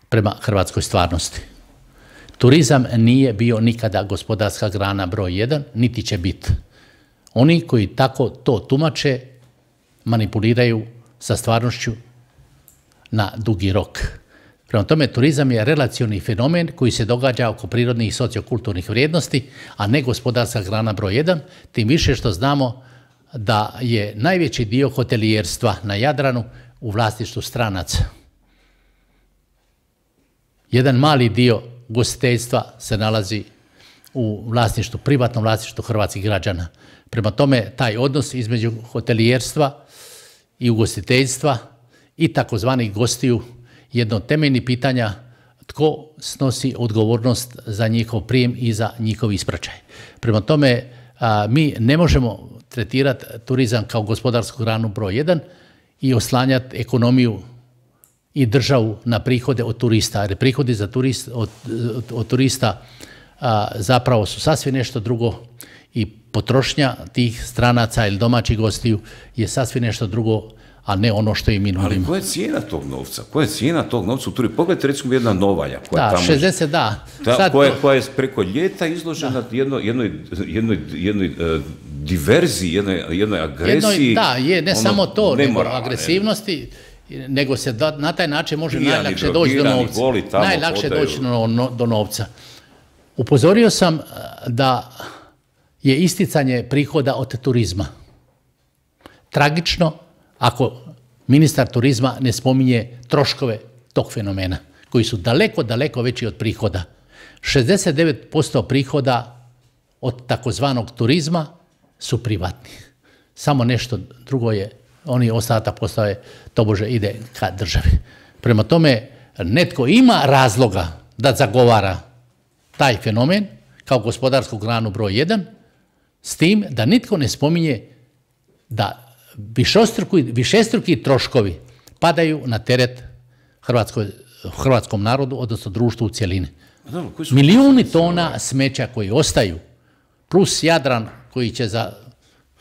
prema hrvatskoj stvarnosti. Turizam nije bio nikada gospodarska grana broj jedan, niti će biti. Oni koji tako to tumače manipuliraju sa stvarnošću na dugi rok. Prema tome, turizam je relacioni fenomen koji se događa oko prirodnih i sociokulturnih vrijednosti, a ne gospodarska grana broj jedan, tim više što znamo da je najveći dio hotelijerstva na Jadranu u vlasništvu stranaca. Jedan mali dio ugostiteljstva se nalazi u vlasništvu, privatnom vlasništvu hrvatskih građana. Prema tome, taj odnos između hotelijerstva i ugostiteljstva i takozvanih gostiju jedno od temeljnih pitanja tko snosi odgovornost za njihov prijem i za njihov ispraćaj. Prema tome, a, mi ne možemo tretirati turizam kao gospodarsku granu broj jedan i oslanjati ekonomiju i državu na prihode od turista. Jer prihodi za turist, od, od, od turista a, zapravo su sasvim nešto drugo i potrošnja tih stranaca ili domaćih gostiju je sasvim nešto drugo, a ne ono što im mi nudimo. Ali koja je cijena tog novca? Koja je cijena tog novca u turizmu? Pogledajte recimo jedna Novalja. Koja da, tamo, šezdeset, da. Ta, Sad, koja, koja je preko ljeta izložena jednoj, jednoj, jednoj, jednoj uh, diverziji, jednoj, jednoj agresiji. Jednoj, da, je ne ono, samo to, nego nemoralne. agresivnosti, nego se da, na taj način može Pijani, najlakše doći do novca. Najlakše podaju. doći do, no, do novca. Upozorio sam da je isticanje prihoda od turizma tragično ako ministar turizma ne spominje troškove tog fenomena, koji su daleko, daleko veći od prihoda. šezdeset devet posto prihoda od takozvanog turizma su privatni. Samo nešto drugo je, oni ostatak postave, tobože ide ka državi. Prema tome, netko ima razloga da zagovara taj fenomen kao gospodarsku granu broj jedan, s tim da nitko ne spominje da višestruki, višestruki troškovi padaju na teret Hrvatskoj, hrvatskom narodu, odnosno društvu u cjelini. Milijuni tona smeća koji ostaju, plus Jadran koji će za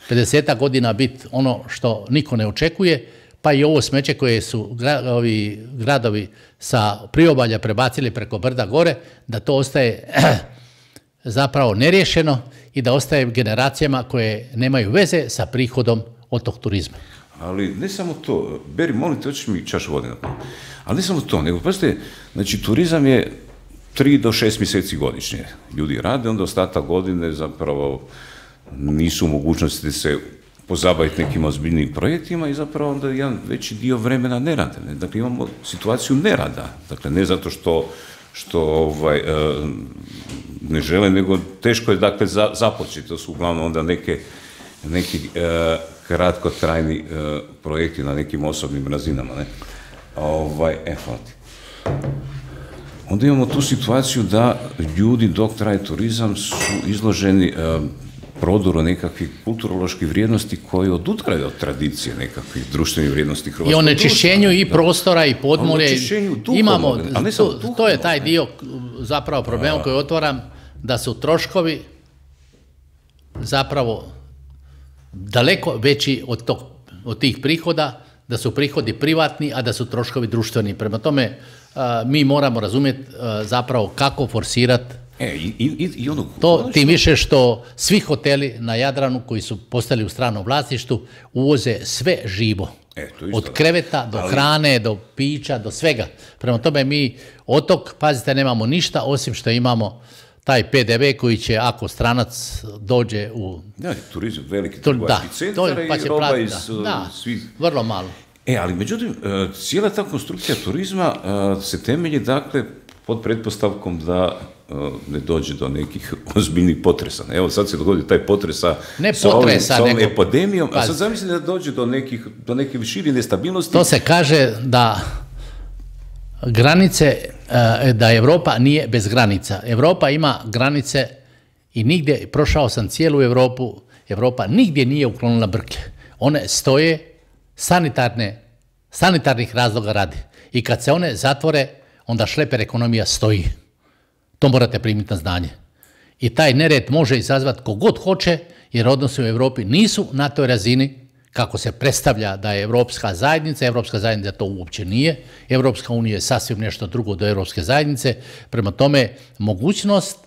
pedeset godina biti ono što niko ne očekuje, pa i ovo smeće koje su gra, ovi gradovi sa priobalja prebacili preko brda gore, da to ostaje zapravo neriješeno i da ostaje generacijama koje nemaju veze sa prihodom od tog turizma. Ali ne samo to, Beri, molim te, hoćeš mi čašu vode na to. Ali ne samo to, nego pazite, znači turizam je tri do šest mjeseci godišnje. Ljudi rade, onda ostatak godine zapravo nisu u mogućnosti se pozabaviti nekim ozbiljnim projektima i zapravo onda jedan veći dio vremena ne rade. Dakle, imamo situaciju nerada. Dakle, ne zato što, što ovaj, ne žele, nego teško je dakle za, započeti. To su uglavnom onda neke, neki eh, kratkotrajni eh, projekti na nekim osobnim razinama. Ne? Ovaj, e, hvala ti. Onda imamo tu situaciju da ljudi dok traje turizam su izloženi eh, prodoru nekakvih kulturoloških vrijednosti koji odudaraju od tradicije nekakvih društvenih vrijednosti hrvatskog društva. I onečišćenju i prostora i podmorja. Imamo, to, to je taj dio zapravo problema koji otvaram, da su troškovi zapravo daleko veći od, tog, od tih prihoda, da su prihodi privatni, a da su troškovi društveni. Prema tome, mi moramo razumjeti zapravo kako forsirati E, i, i, i ono, to tim više što svi hoteli na Jadranu koji su postali u stranom vlasništvu uvoze sve živo. E, od kreveta do ali... hrane, do pića, do svega. Prema tome mi otok, pazite, nemamo ništa osim što imamo taj P D V koji će, ako stranac dođe u... Da, turizam, veliki trgovački centar pa i roba plati, iz da, da, svih... vrlo malo. E, ali međutim, cijela ta konstrukcija turizma se temelji, dakle, pod pretpostavkom da ne dođe do nekih ozbiljnih potresa. Evo sad se dogodi taj potres sa, ne sa, potresa, ovim, sa ovom nego, epidemijom, a sad zamislim da dođe do nekih, do neke šire nestabilnosti. To se kaže da granice, da Europa nije bez granica. Europa ima granice i nigdje, prošao sam cijelu Europu, Europa nigdje nije uklonila brklje. One stoje sanitarne, sanitarnih razloga radi. I kad se one zatvore, onda šleper ekonomija stoji. To morate primiti na znanje. I taj nered može izazvati kogod hoće, jer odnosi u Europi nisu na toj razini kako se predstavlja da je Europska zajednica. Europska zajednica to uopće nije. Europska unija je sasvim nešto drugo do Europske zajednice. Prema tome, mogućnost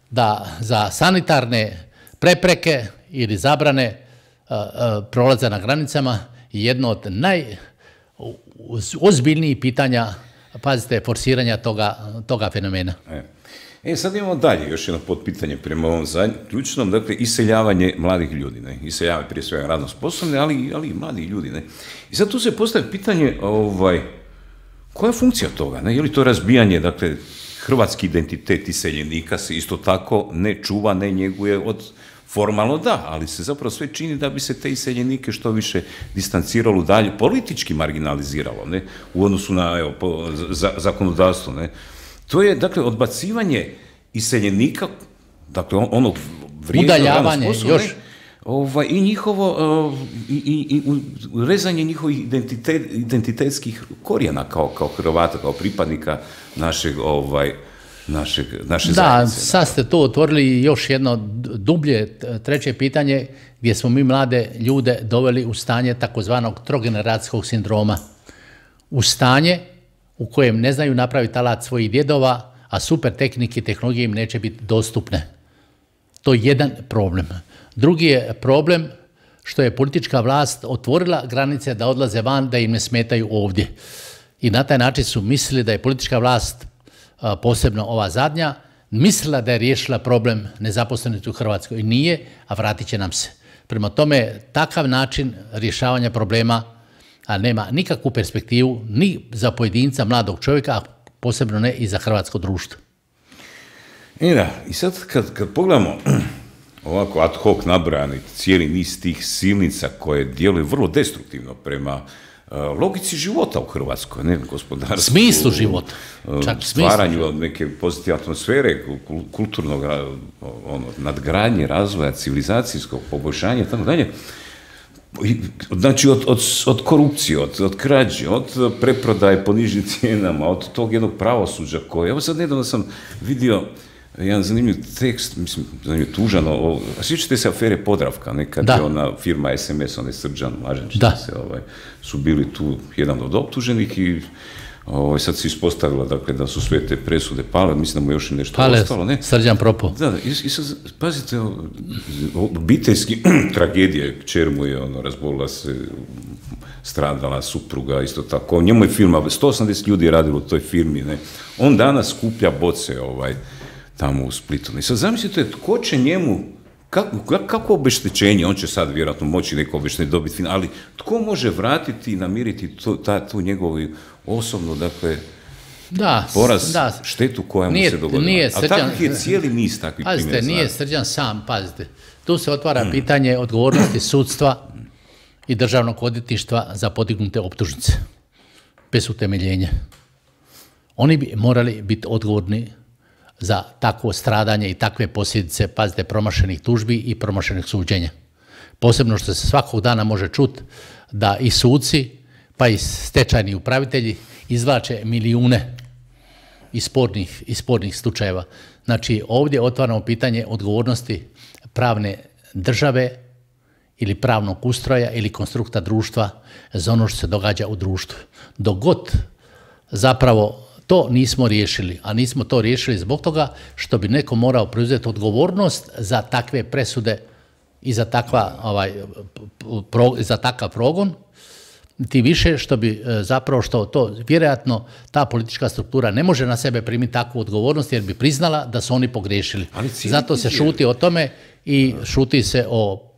da za sanitarne prepreke ili zabrane uh, uh, prolaza na granicama je jedno od najozbiljnijih pitanja, pazite, forsiranja toga, toga fenomena. E. E, sad imamo dalje još jedno potpitanje prema ovom zadnjem, ključnom, dakle, iseljavanje mladih ljudi, ne? Iseljavanje prije svega radno sposobne, ali, ali i mladih ljudi, ne? I sad tu se postavlja pitanje, ovaj, koja je funkcija toga, ne? Je li to razbijanje, dakle, hrvatski identitet iseljenika se isto tako ne čuva, ne njeguje od formalno da, ali se zapravo sve čini da bi se te iseljenike što više distanciralo dalje, politički marginaliziralo, ne? U odnosu na, evo, po, za, zakonodavstvo, ne? To je, dakle, odbacivanje iseljenika, dakle, onog vrijednog, udaljavanje, još... Ovaj, i njihovo, uh, i, i, i rezanje njihovih identitet, identitetskih korijena kao, kao Hrvata, kao pripadnika našeg, ovaj, našeg, naše da, zajednice. Da, sad ste tu otvorili još jedno dublje, treće pitanje, gdje smo mi mlade ljude doveli u stanje takozvanog trogeneracijskog sindroma. U stanje u kojem ne znaju napraviti alat svojih djedova, a super tehnike i tehnologije im neće biti dostupne. To je jedan problem. Drugi je problem što je politička vlast otvorila granice da odlaze van, da im ne smetaju ovdje. I na taj način su mislili da je politička vlast, posebno ova zadnja, mislila da je riješila problem nezaposlenosti u Hrvatskoj. I nije, a vratit će nam se. Prema tome, takav način rješavanja problema a nema nikakvu perspektivu ni za pojedinca, mladog čovjeka, a posebno ne i za hrvatsko društvo. I da, i sad kad, kad pogledamo ovako ad hoc nabrojani cijeli niz tih silnica koje djeluju vrlo destruktivno prema uh, logici života u Hrvatskoj, ne, gospodarstvu, smislu života, čak stvaranju smislu. Neke pozitivne atmosfere, kulturnog ono, nadgradnje, razvoja, civilizacijskog poboljšanja i tako dalje. Znači, od, od, od korupcije, od, od krađe, od preprodaje po nižim cijenama, od tog jednog pravosuđa koje... Evo sad nedavno sam vidio jedan zanimljiv tekst, mislim, zanimljiv, tužan, o, a sjećate se afere Podravka, nekad je ona firma S M S, onaj Srđan Mlađanić, se, ovaj, su bili tu jedan od optuženih i ovaj, sad se ispostavilo, dakle, da su sve te presude pale, mislim da mu još nešto pale, ostalo, ne? Srđan propo. Da, da, i, i sad, pazite, obiteljski tragedije, kćer mu je, ono, razbolila se, stradala supruga, isto tako, njemu je firma, sto osamdeset ljudi je radilo u toj firmi, ne? On danas skuplja boce, ovaj, tamo u Splitu. I sad zamislite, tko će njemu, kako, kako obeštećenje, on će sad vjerojatno moći neko obeštećenje dobiti, ali tko može vratiti i namiriti tu, ta, tu njegovu osobnu, dakle, da, poraz, da, štetu koja mu se dogodila. Nije a takvih je cijeli niz takvih primjera. Pazite, nije Srđan sam, pazite. Tu se otvara pitanje odgovornosti sudstva i državnog odvjetništva za podignute optužnice, bez utemeljenja. Oni bi morali biti odgovorni za takvo stradanje i takve posljedice, pazite, promašenih tužbi i promašenih suđenja. Posebno što se svakog dana može čuti da i suci, pa i stečajni upravitelji izvlače milijune iz spornih, iz spornih slučajeva. Znači, ovdje otvaramo pitanje odgovornosti pravne države ili pravnog ustroja ili konstrukta društva za ono što se događa u društvu. Dok god zapravo To nismo riješili, a nismo to riješili zbog toga što bi neko morao preuzeti odgovornost za takve presude i za, takva, ovaj, pro, za takav progon, ti više što bi zapravo što to, vjerojatno ta politička struktura ne može na sebe primiti takvu odgovornost jer bi priznala da su oni pogriješili. Zato se šuti o tome i šuti se o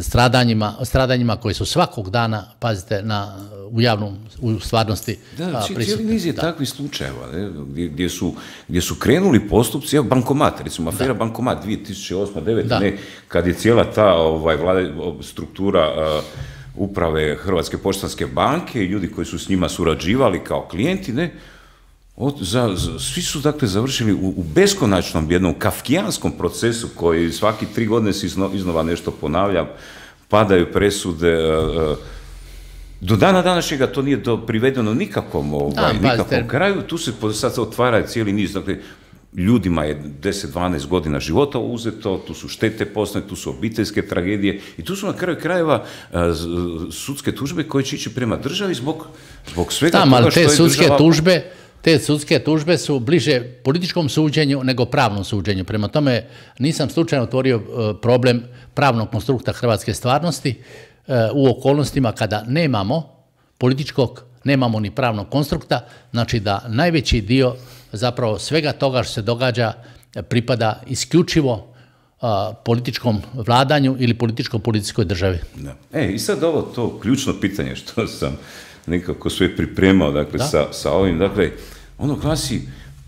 stradanjima, stradanjima koji su svakog dana, pazite, na, u javnom, u stvarnosti da, prisutni. Cijeli niz je da. takvih slučajeva, ne, gdje, gdje, su, gdje su krenuli postupci, evo Bankomat, recimo afera da. Bankomat dvije tisuće osme devete ne, kad je cijela ta ovaj, vlada, struktura uh, uprave Hrvatske poštanske banke i ljudi koji su s njima surađivali kao klijenti, ne, Od, za, za, svi su dakle završili u, u beskonačnom jednom kafkijanskom procesu koji svaki tri godine se izno, iznova nešto ponavlja, padaju presude, uh, do dana današnjega to nije do, privedeno nikakvom, ovaj, da, nikakvom kraju, tu se sad otvara cijeli niz, dakle, ljudima je deset dvanaest godina života uzeto, tu su štete posne, tu su obiteljske tragedije i tu su na kraju krajeva uh, sudske tužbe koje će ići prema državi zbog, zbog svega da, toga što je sudske država... tužbe Te sudske tužbe su bliže političkom suđenju nego pravnom suđenju. Prema tome nisam slučajno otvorio problem pravnog konstrukta hrvatske stvarnosti u okolnostima kada nemamo političkog, nemamo ni pravnog konstrukta, znači da najveći dio zapravo svega toga što se događa pripada isključivo političkom vladanju ili političko-policijskoj državi. Da. E, i sad ovo to ključno pitanje što sam nekako sve pripremao, dakle, sa, sa ovim, dakle, ono glasi,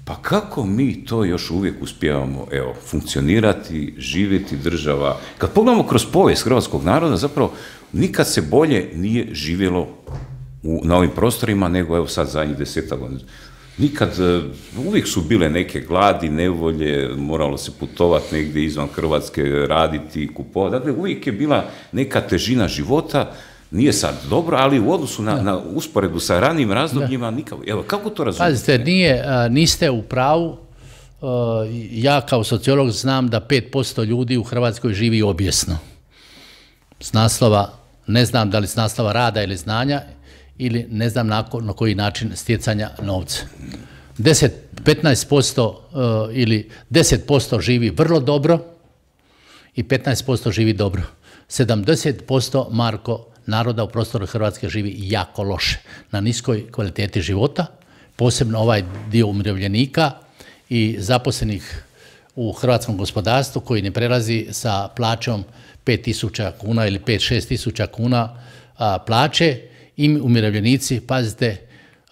pa kako mi to još uvijek uspijevamo, evo, funkcionirati, živjeti država. Kad pogledamo kroz povijest hrvatskog naroda, zapravo nikad se bolje nije živjelo u, na ovim prostorima nego, evo, sad zadnjih desetak godina. Nikad, uvijek su bile neke gladi, nevolje, moralo se putovati negdje izvan Hrvatske, raditi, kupovati, dakle, uvijek je bila neka težina života. Nije sad dobro, ali u odnosu na, na usporedu sa ranijim razdobljima nikako. Evo, kako to razumijete? Pazite, nije, niste u pravu. Ja kao sociolog znam da pet posto ljudi u Hrvatskoj živi obijesno. S naslova, ne znam da li s naslova rada ili znanja, ili ne znam na, na koji način stjecanja novca. deset do petnaest posto ili deset posto živi vrlo dobro i petnaest posto živi dobro. sedamdeset posto, Marko, naroda u prostoru Hrvatske živi jako loše, na niskoj kvaliteti života, posebno ovaj dio umirovljenika i zaposlenih u hrvatskom gospodarstvu koji ne prelazi sa plaćom pet tisuća kuna ili pet do šest tisuća kuna a, plaće i umirovljenici, pazite,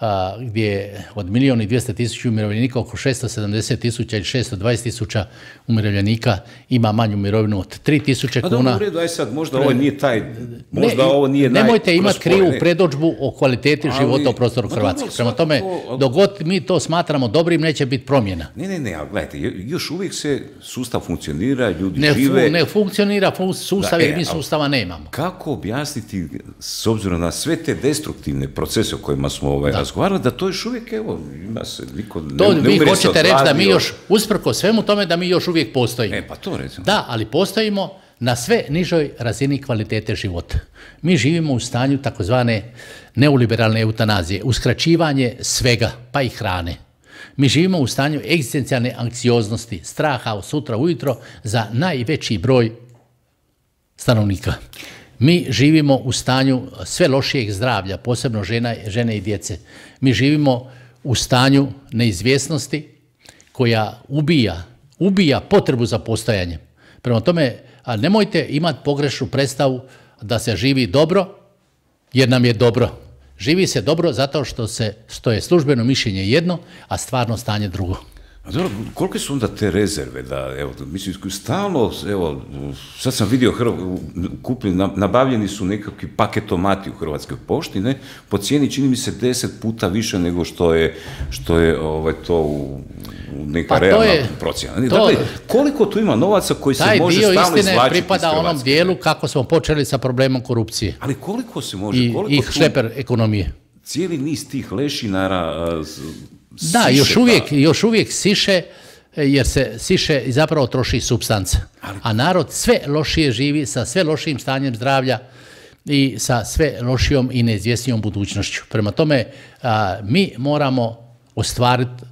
a, gdje je od milijun i dvjesto tisuća umirovljenika oko šesto sedamdeset tisuća ili šesto dvadeset tisuća umirovljenika ima manju mirovinu od tri tisuće kuna. A dobro, u redu, aj sad, možda ovo nije taj, možda ne, ovo nije naj... Nemojte imati krivu predodžbu o kvaliteti ali, života u prostoru Hrvatske. Prema tome, to, dok god mi to smatramo dobrim, neće biti promjena. Ne, ne, ne, ali gledajte, još uvijek se sustav funkcionira, ljudi ne, žive... Fu, ne funkcionira sustav da, jer e, mi sustava nemamo. Kako objasniti, s obzirom na sve te destruktivne procese o kojima smo ovaj, razgovarali, da to još uvijek, evo, ima se, niko ne, to, ne vi umire hoćete reći da mi još, usprko svemu tome, da mi još uvijek postojimo. E, pa to recimo. Da, ali postojimo na sve nižoj razini kvalitete života. Mi živimo u stanju takozvane neoliberalne eutanazije, uskraćivanje svega, pa i hrane. Mi živimo u stanju egzistencijalne anksioznosti, straha od sutra ujutro za najveći broj stanovnika. Mi živimo u stanju sve lošijeg zdravlja, posebno žena, žene i djece. Mi živimo u stanju neizvjesnosti koja ubija, ubija potrebu za postojanjem. Prema tome, a nemojte imati pogrešnu predstavu da se živi dobro, jer nam je dobro. Živi se dobro zato što, se, što je službeno mišljenje jedno, a stvarno stanje drugo. A dobro, kolike su onda te rezerve da, evo, mislim, stalno, evo, sad sam vidio, kupili, nabavljeni su nekakvi paketomati u Hrvatskoj pošti, ne, po cijeni čini mi se deset puta više nego što je, što je ovaj, to u, u neka pa realna je, procjena. Dakle, koliko tu ima novaca koji se može stalno izvlačiti iz Hrvatske? Taj dio istine pripada onom dijelu kako smo počeli sa problemom korupcije. Ali koliko se može? I, koliko i šleper ekonomije. Cijeli niz tih lešinara... Da, siše, još uvijek, još uvijek siše, jer se siše i zapravo troši supstanca. Ali... A narod sve lošije živi sa sve lošijim stanjem zdravlja i sa sve lošijom i neizvjesnijom budućnošću. Prema tome, a, mi moramo ostvariti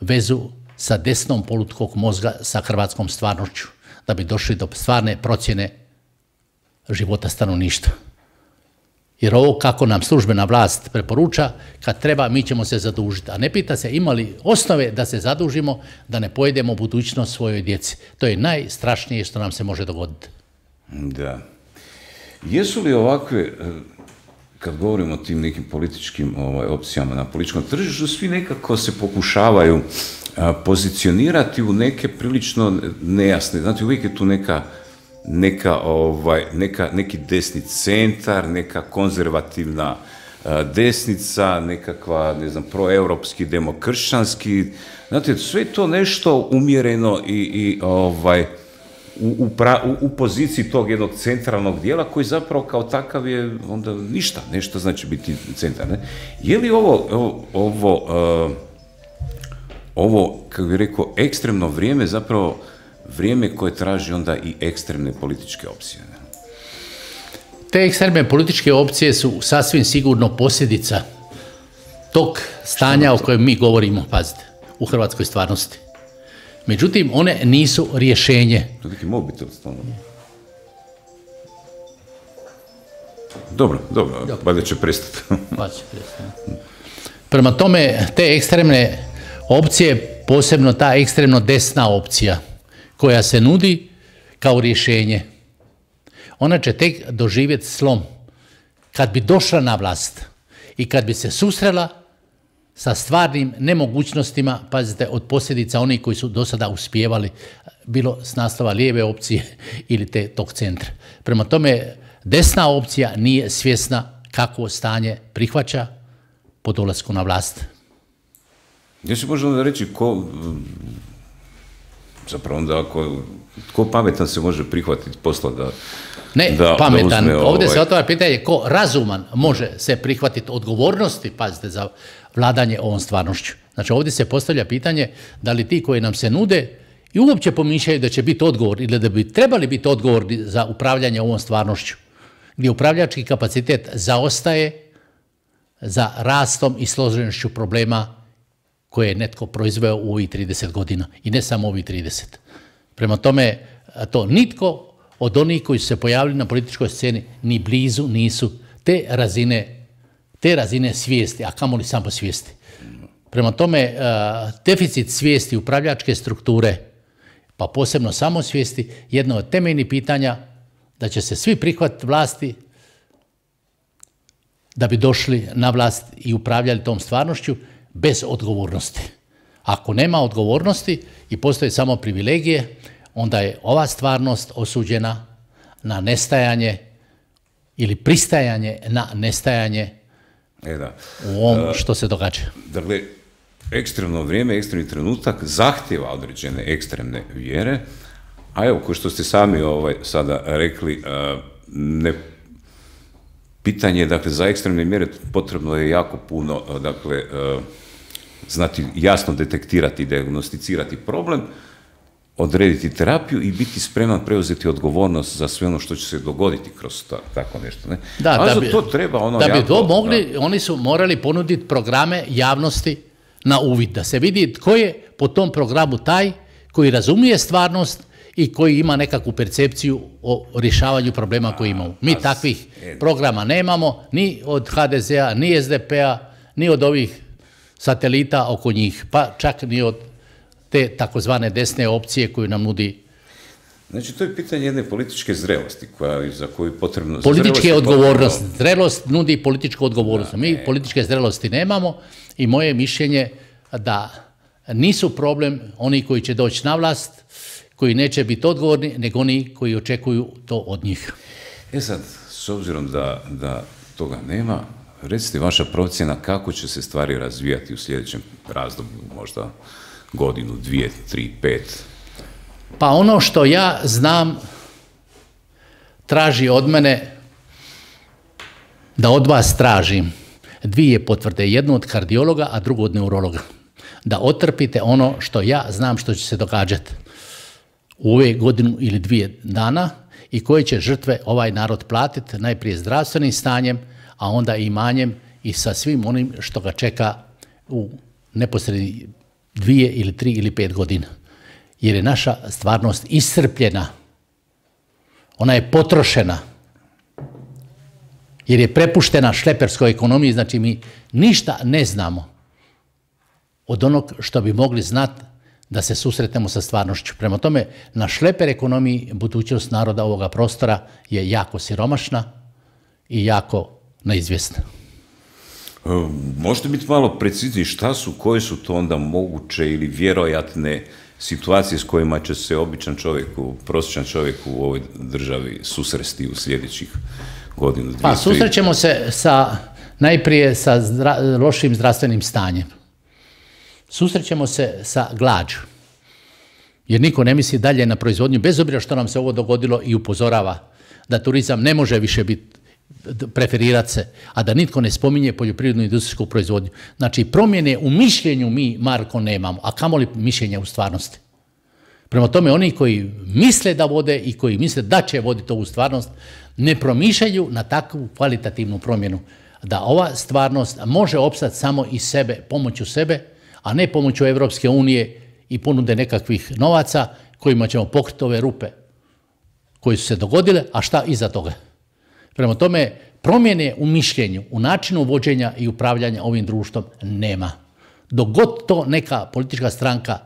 vezu sa desnom polutkog mozga sa hrvatskom stvarnošću, da bi došli do stvarne procjene života stanovništva. Jer ovo kako nam službena vlast preporuča, kad treba mi ćemo se zadužiti. A ne pita se ima li osnove da se zadužimo, da ne pojedemo budućnost svojoj djeci. To je najstrašnije što nam se može dogoditi. Da. Jesu li ovakve, kad govorimo o tim nekim političkim ovaj, opcijama na političkom tržištu, svi nekako se pokušavaju a, pozicionirati u neke prilično nejasne, znate, uvijek je tu neka Neka, ovaj, neka, neki desni centar, neka konzervativna a, desnica, nekakva, ne znam, proeuropski, demokršćanski, znate, sve to nešto umjereno i, i ovaj, u, u, pra, u, u poziciji tog jednog centralnog dijela koji zapravo kao takav je onda ništa, nešto znači biti centar. Ne? Je li ovo, ovo, ovo, uh, ovo kako bih rekao, ekstremno vrijeme zapravo vrijeme koje traži onda i ekstremne političke opcije? Ne? Te ekstremne političke opcije su sasvim sigurno posljedica tog stanja o kojem mi govorimo, pazite, u hrvatskoj stvarnosti. Međutim, one nisu rješenje. To je neki mobitel stvarno. Dobro, dobro, valjda će prestati. Pa će prestati. Prema tome, te ekstremne opcije, posebno ta ekstremno desna opcija, koja se nudi kao rješenje, ona će tek doživjeti slom. Kad bi došla na vlast i kad bi se susrela sa stvarnim nemogućnostima, pazite, od posljedica onih koji su do sada uspijevali, bilo s naslova lijeve opcije ili te tog centra. Prema tome, desna opcija nije svjesna kako stanje prihvaća po dolasku na vlast. Ja se možemo da reći ko, zapravo onda ako, ko pametan se može prihvatiti posla da Ne, da, pametan. Da uzme, Ovdje ovaj... se otvara pitanje ko razuman može se prihvatiti odgovornosti, pazite, za vladanje ovom stvarnošću. Znači ovdje se postavlja pitanje da li ti koji nam se nude i uopće pomišljaju da će biti odgovor ili da bi trebali biti odgovorni za upravljanje ovom stvarnošću, gdje upravljački kapacitet zaostaje za rastom i složenošću problema koje je netko proizveo u ovih trideset godina i ne samo ovih trideset. Prema tome, to nitko od onih koji su se pojavili na političkoj sceni ni blizu nisu te razine, te razine svijesti, a kamoli samo svijesti. Prema tome, deficit svijesti upravljačke strukture, pa posebno samosvijesti, jedno od temeljnih pitanja da će se svi prihvatiti vlasti da bi došli na vlast i upravljali tom stvarnošću bez odgovornosti. Ako nema odgovornosti i postoje samo privilegije, onda je ova stvarnost osuđena na nestajanje ili pristajanje na nestajanje e da. u ovom što se događa. Dakle, ekstremno vrijeme, ekstremni trenutak zahtjeva određene ekstremne vjere, a evo, kao što ste sami ovaj, sada rekli, ne, pitanje je, dakle, za ekstremne mjere potrebno je jako puno, dakle, znati jasno detektirati, dijagnosticirati problem, odrediti terapiju i biti spreman preuzeti odgovornost za sve ono što će se dogoditi kroz ta, tako nešto. Ne? Da, a da bi, to treba ono da bi jako, to mogli, da. Oni su morali ponuditi programe javnosti na uvid, da se vidi tko je po tom programu taj koji razumije stvarnost i koji ima nekakvu percepciju o rješavanju problema koji imamo. Mi takvih programa nemamo, ni od ha de zea, ni es de pe-a, ni od ovih satelita oko njih, pa čak ni od te takozvane desne opcije koju nam nudi. Znači, to je pitanje jedne političke zrelosti, koja, za koju je potrebno... Političke odgovornost. Potrebno... Zrelost nudi političku odgovornost. Da, Mi ne. političke zrelosti nemamo i moje mišljenje da nisu problem oni koji će doći na vlast, koji neće biti odgovorni, nego oni koji očekuju to od njih. E sad, s obzirom da, da toga nema, recite vaša procjena kako će se stvari razvijati u sljedećem razdoblju, možda godinu, dvije, tri, pet. Pa ono što ja znam traži od mene da od vas tražim dvije potvrde, jednu od kardiologa, a drugu od neurologa. Da otrpite ono što ja znam što će se događati u ove godinu ili dvije dana i koje će žrtve ovaj narod platiti, najprije zdravstvenim stanjem, a onda i imanjem i sa svim onim što ga čeka u neposredni dvije ili tri ili pet godina. Jer je naša stvarnost iscrpljena. Ona je potrošena. Jer je prepuštena šleperskoj ekonomiji, znači mi ništa ne znamo od onog što bi mogli znati da se susretnemo sa stvarnošću. Prema tome, na šleper ekonomiji budućnost naroda ovoga prostora je jako siromašna i jako neizvjesna. Možete biti malo precizniji šta su, koje su to onda moguće ili vjerojatne situacije s kojima će se običan čovjek, prosječan čovjek u ovoj državi susresti u sljedećih godinu, dvije, Pa susrećemo se sa, najprije sa zdra, lošim zdravstvenim stanjem. Susrećemo se sa glađu. Jer niko ne misli dalje na proizvodnju, bez obzira što nam se ovo dogodilo i upozorava da turizam ne može više biti preferirati se, a da nitko ne spominje poljoprivrednu industrijsku proizvodnju. Znači, promjene u mišljenju mi, Marko, nemamo, a kamoli mišljenja u stvarnosti. Prema tome, oni koji misle da vode i koji misle da će voditi ovu stvarnost, ne promišljaju na takvu kvalitativnu promjenu, da ova stvarnost može opstati samo iz sebe, pomoću sebe, a ne pomoću Evropske unije i ponude nekakvih novaca kojima ćemo pokriti ove rupe koje su se dogodile, a šta iza toga. Prema tome, promjene u mišljenju, u načinu vođenja i upravljanja ovim društvom nema. Dok god to neka politička stranka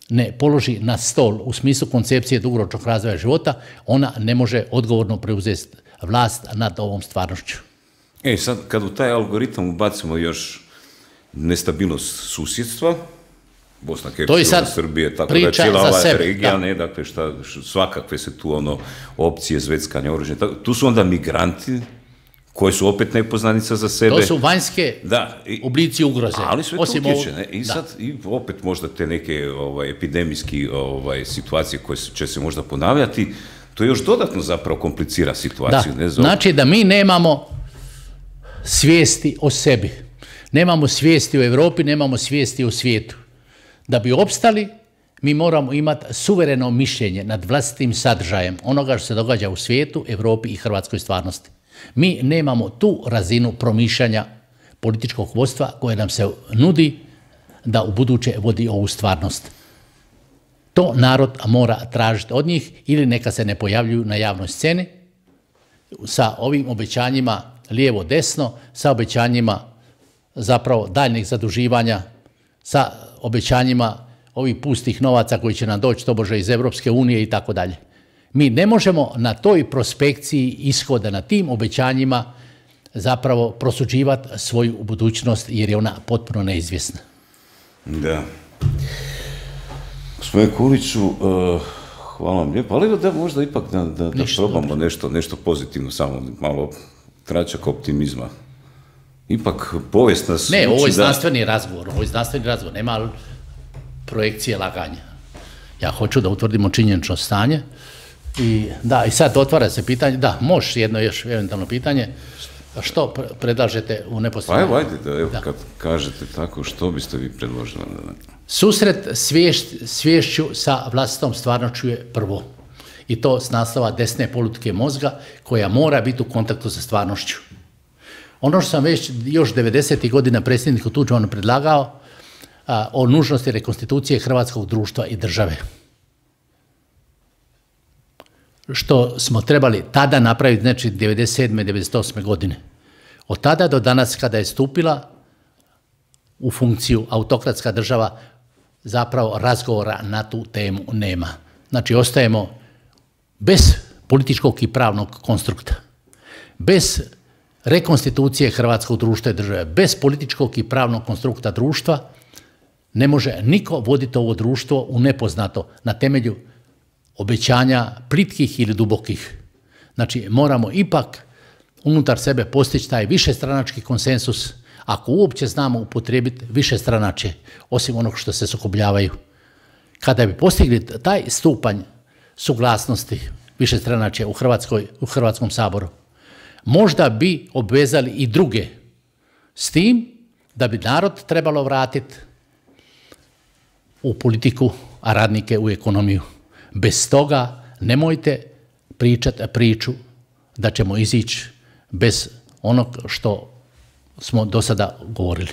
ne položi na stol u smislu koncepcije dugoročnog razvoja života, ona ne može odgovorno preuzeti vlast nad ovom stvarnošću. E, sad, kad u taj algoritam ubacimo još nestabilnost susjedstva, Bosna, Hercegovina, Srbije, tako da cijela ova regija, ne, dakle, šta, svakakve se tu ono opcije zveckanja oružja, tu su onda migranti, koji su opet nepoznanica za sebe. To su vanjske da, i, oblici ugroze. Ali sve to utječe, ne? I da. Sad i opet možda te neke ovaj, epidemijski ovaj, situacije koje će se možda ponavljati, to još dodatno zapravo komplicira situaciju. Da. Ne, za... Znači da mi nemamo svijesti o sebi. Nemamo svijesti o Europi, nemamo svijesti o svijetu. Da bi opstali, mi moramo imati suvereno mišljenje nad vlastitim sadržajem onoga što se događa u svijetu, Europi i hrvatskoj stvarnosti. Mi nemamo tu razinu promišljanja političkog vodstva koje nam se nudi da u buduće vodi ovu stvarnost. To narod mora tražiti od njih ili neka se ne pojavljuju na javnoj sceni sa ovim obećanjima lijevo-desno, sa obećanjima zapravo daljnjeg zaduživanja, sa obećanjima ovih pustih novaca koji će nam doći tobože iz Evropske unije i tako dalje. Mi ne možemo na toj prospekciji ishoda, na tim obećanjima zapravo prosuđivati svoju budućnost jer je ona potpuno neizvjesna. Da. Gospodine Kuliću, uh, hvala vam lijepo, ali da možda ipak da, da, da probamo nešto, nešto pozitivno, samo malo tračak optimizma. Ipak povijest nas... Ne, ovo je znanstveni da... razgovor, ovo je znanstveni razgovor, nema projekcije laganja. Ja hoću da utvrdimo činjenično stanje i da, i sad otvara se pitanje, da, možeš jedno još eventualno pitanje, što predlažete u neposrednoj... Pa evo, ajde, da, evo, da. Kad kažete tako, što biste vi predložili? Susret sviješć, sviješću sa vlastitom stvarnošću je prvo. I to s naslova desne politike mozga, koja mora biti u kontaktu sa stvarnošću. Ono što sam već još devedesetih godina predsjedniku Tuđmanu predlagao a, o nužnosti rekonstitucije hrvatskog društva i države. Što smo trebali tada napraviti, znači devedeset sedme devedeset osme godine. Od tada do danas kada je stupila u funkciju autokratska država, zapravo razgovora na tu temu nema. Znači ostajemo bez političkog i pravnog konstrukta, bez rekonstitucije hrvatskog društva i države, bez političkog i pravnog konstrukta društva, ne može niko voditi ovo društvo u nepoznato na temelju obećanja plitkih ili dubokih. Znači, moramo ipak unutar sebe postići taj višestranački konsensus, ako uopće znamo upotrijebiti višestranačje, osim onog što se sukobljavaju. Kada bi postigli taj stupanj suglasnosti višestranačja u Hrvatskoj, u Hrvatskom saboru, možda bi obvezali i druge s tim da bi narod trebalo vratiti u politiku, a radnike u ekonomiju. Bez toga nemojte pričati priču da ćemo izići bez onog što smo do sada govorili.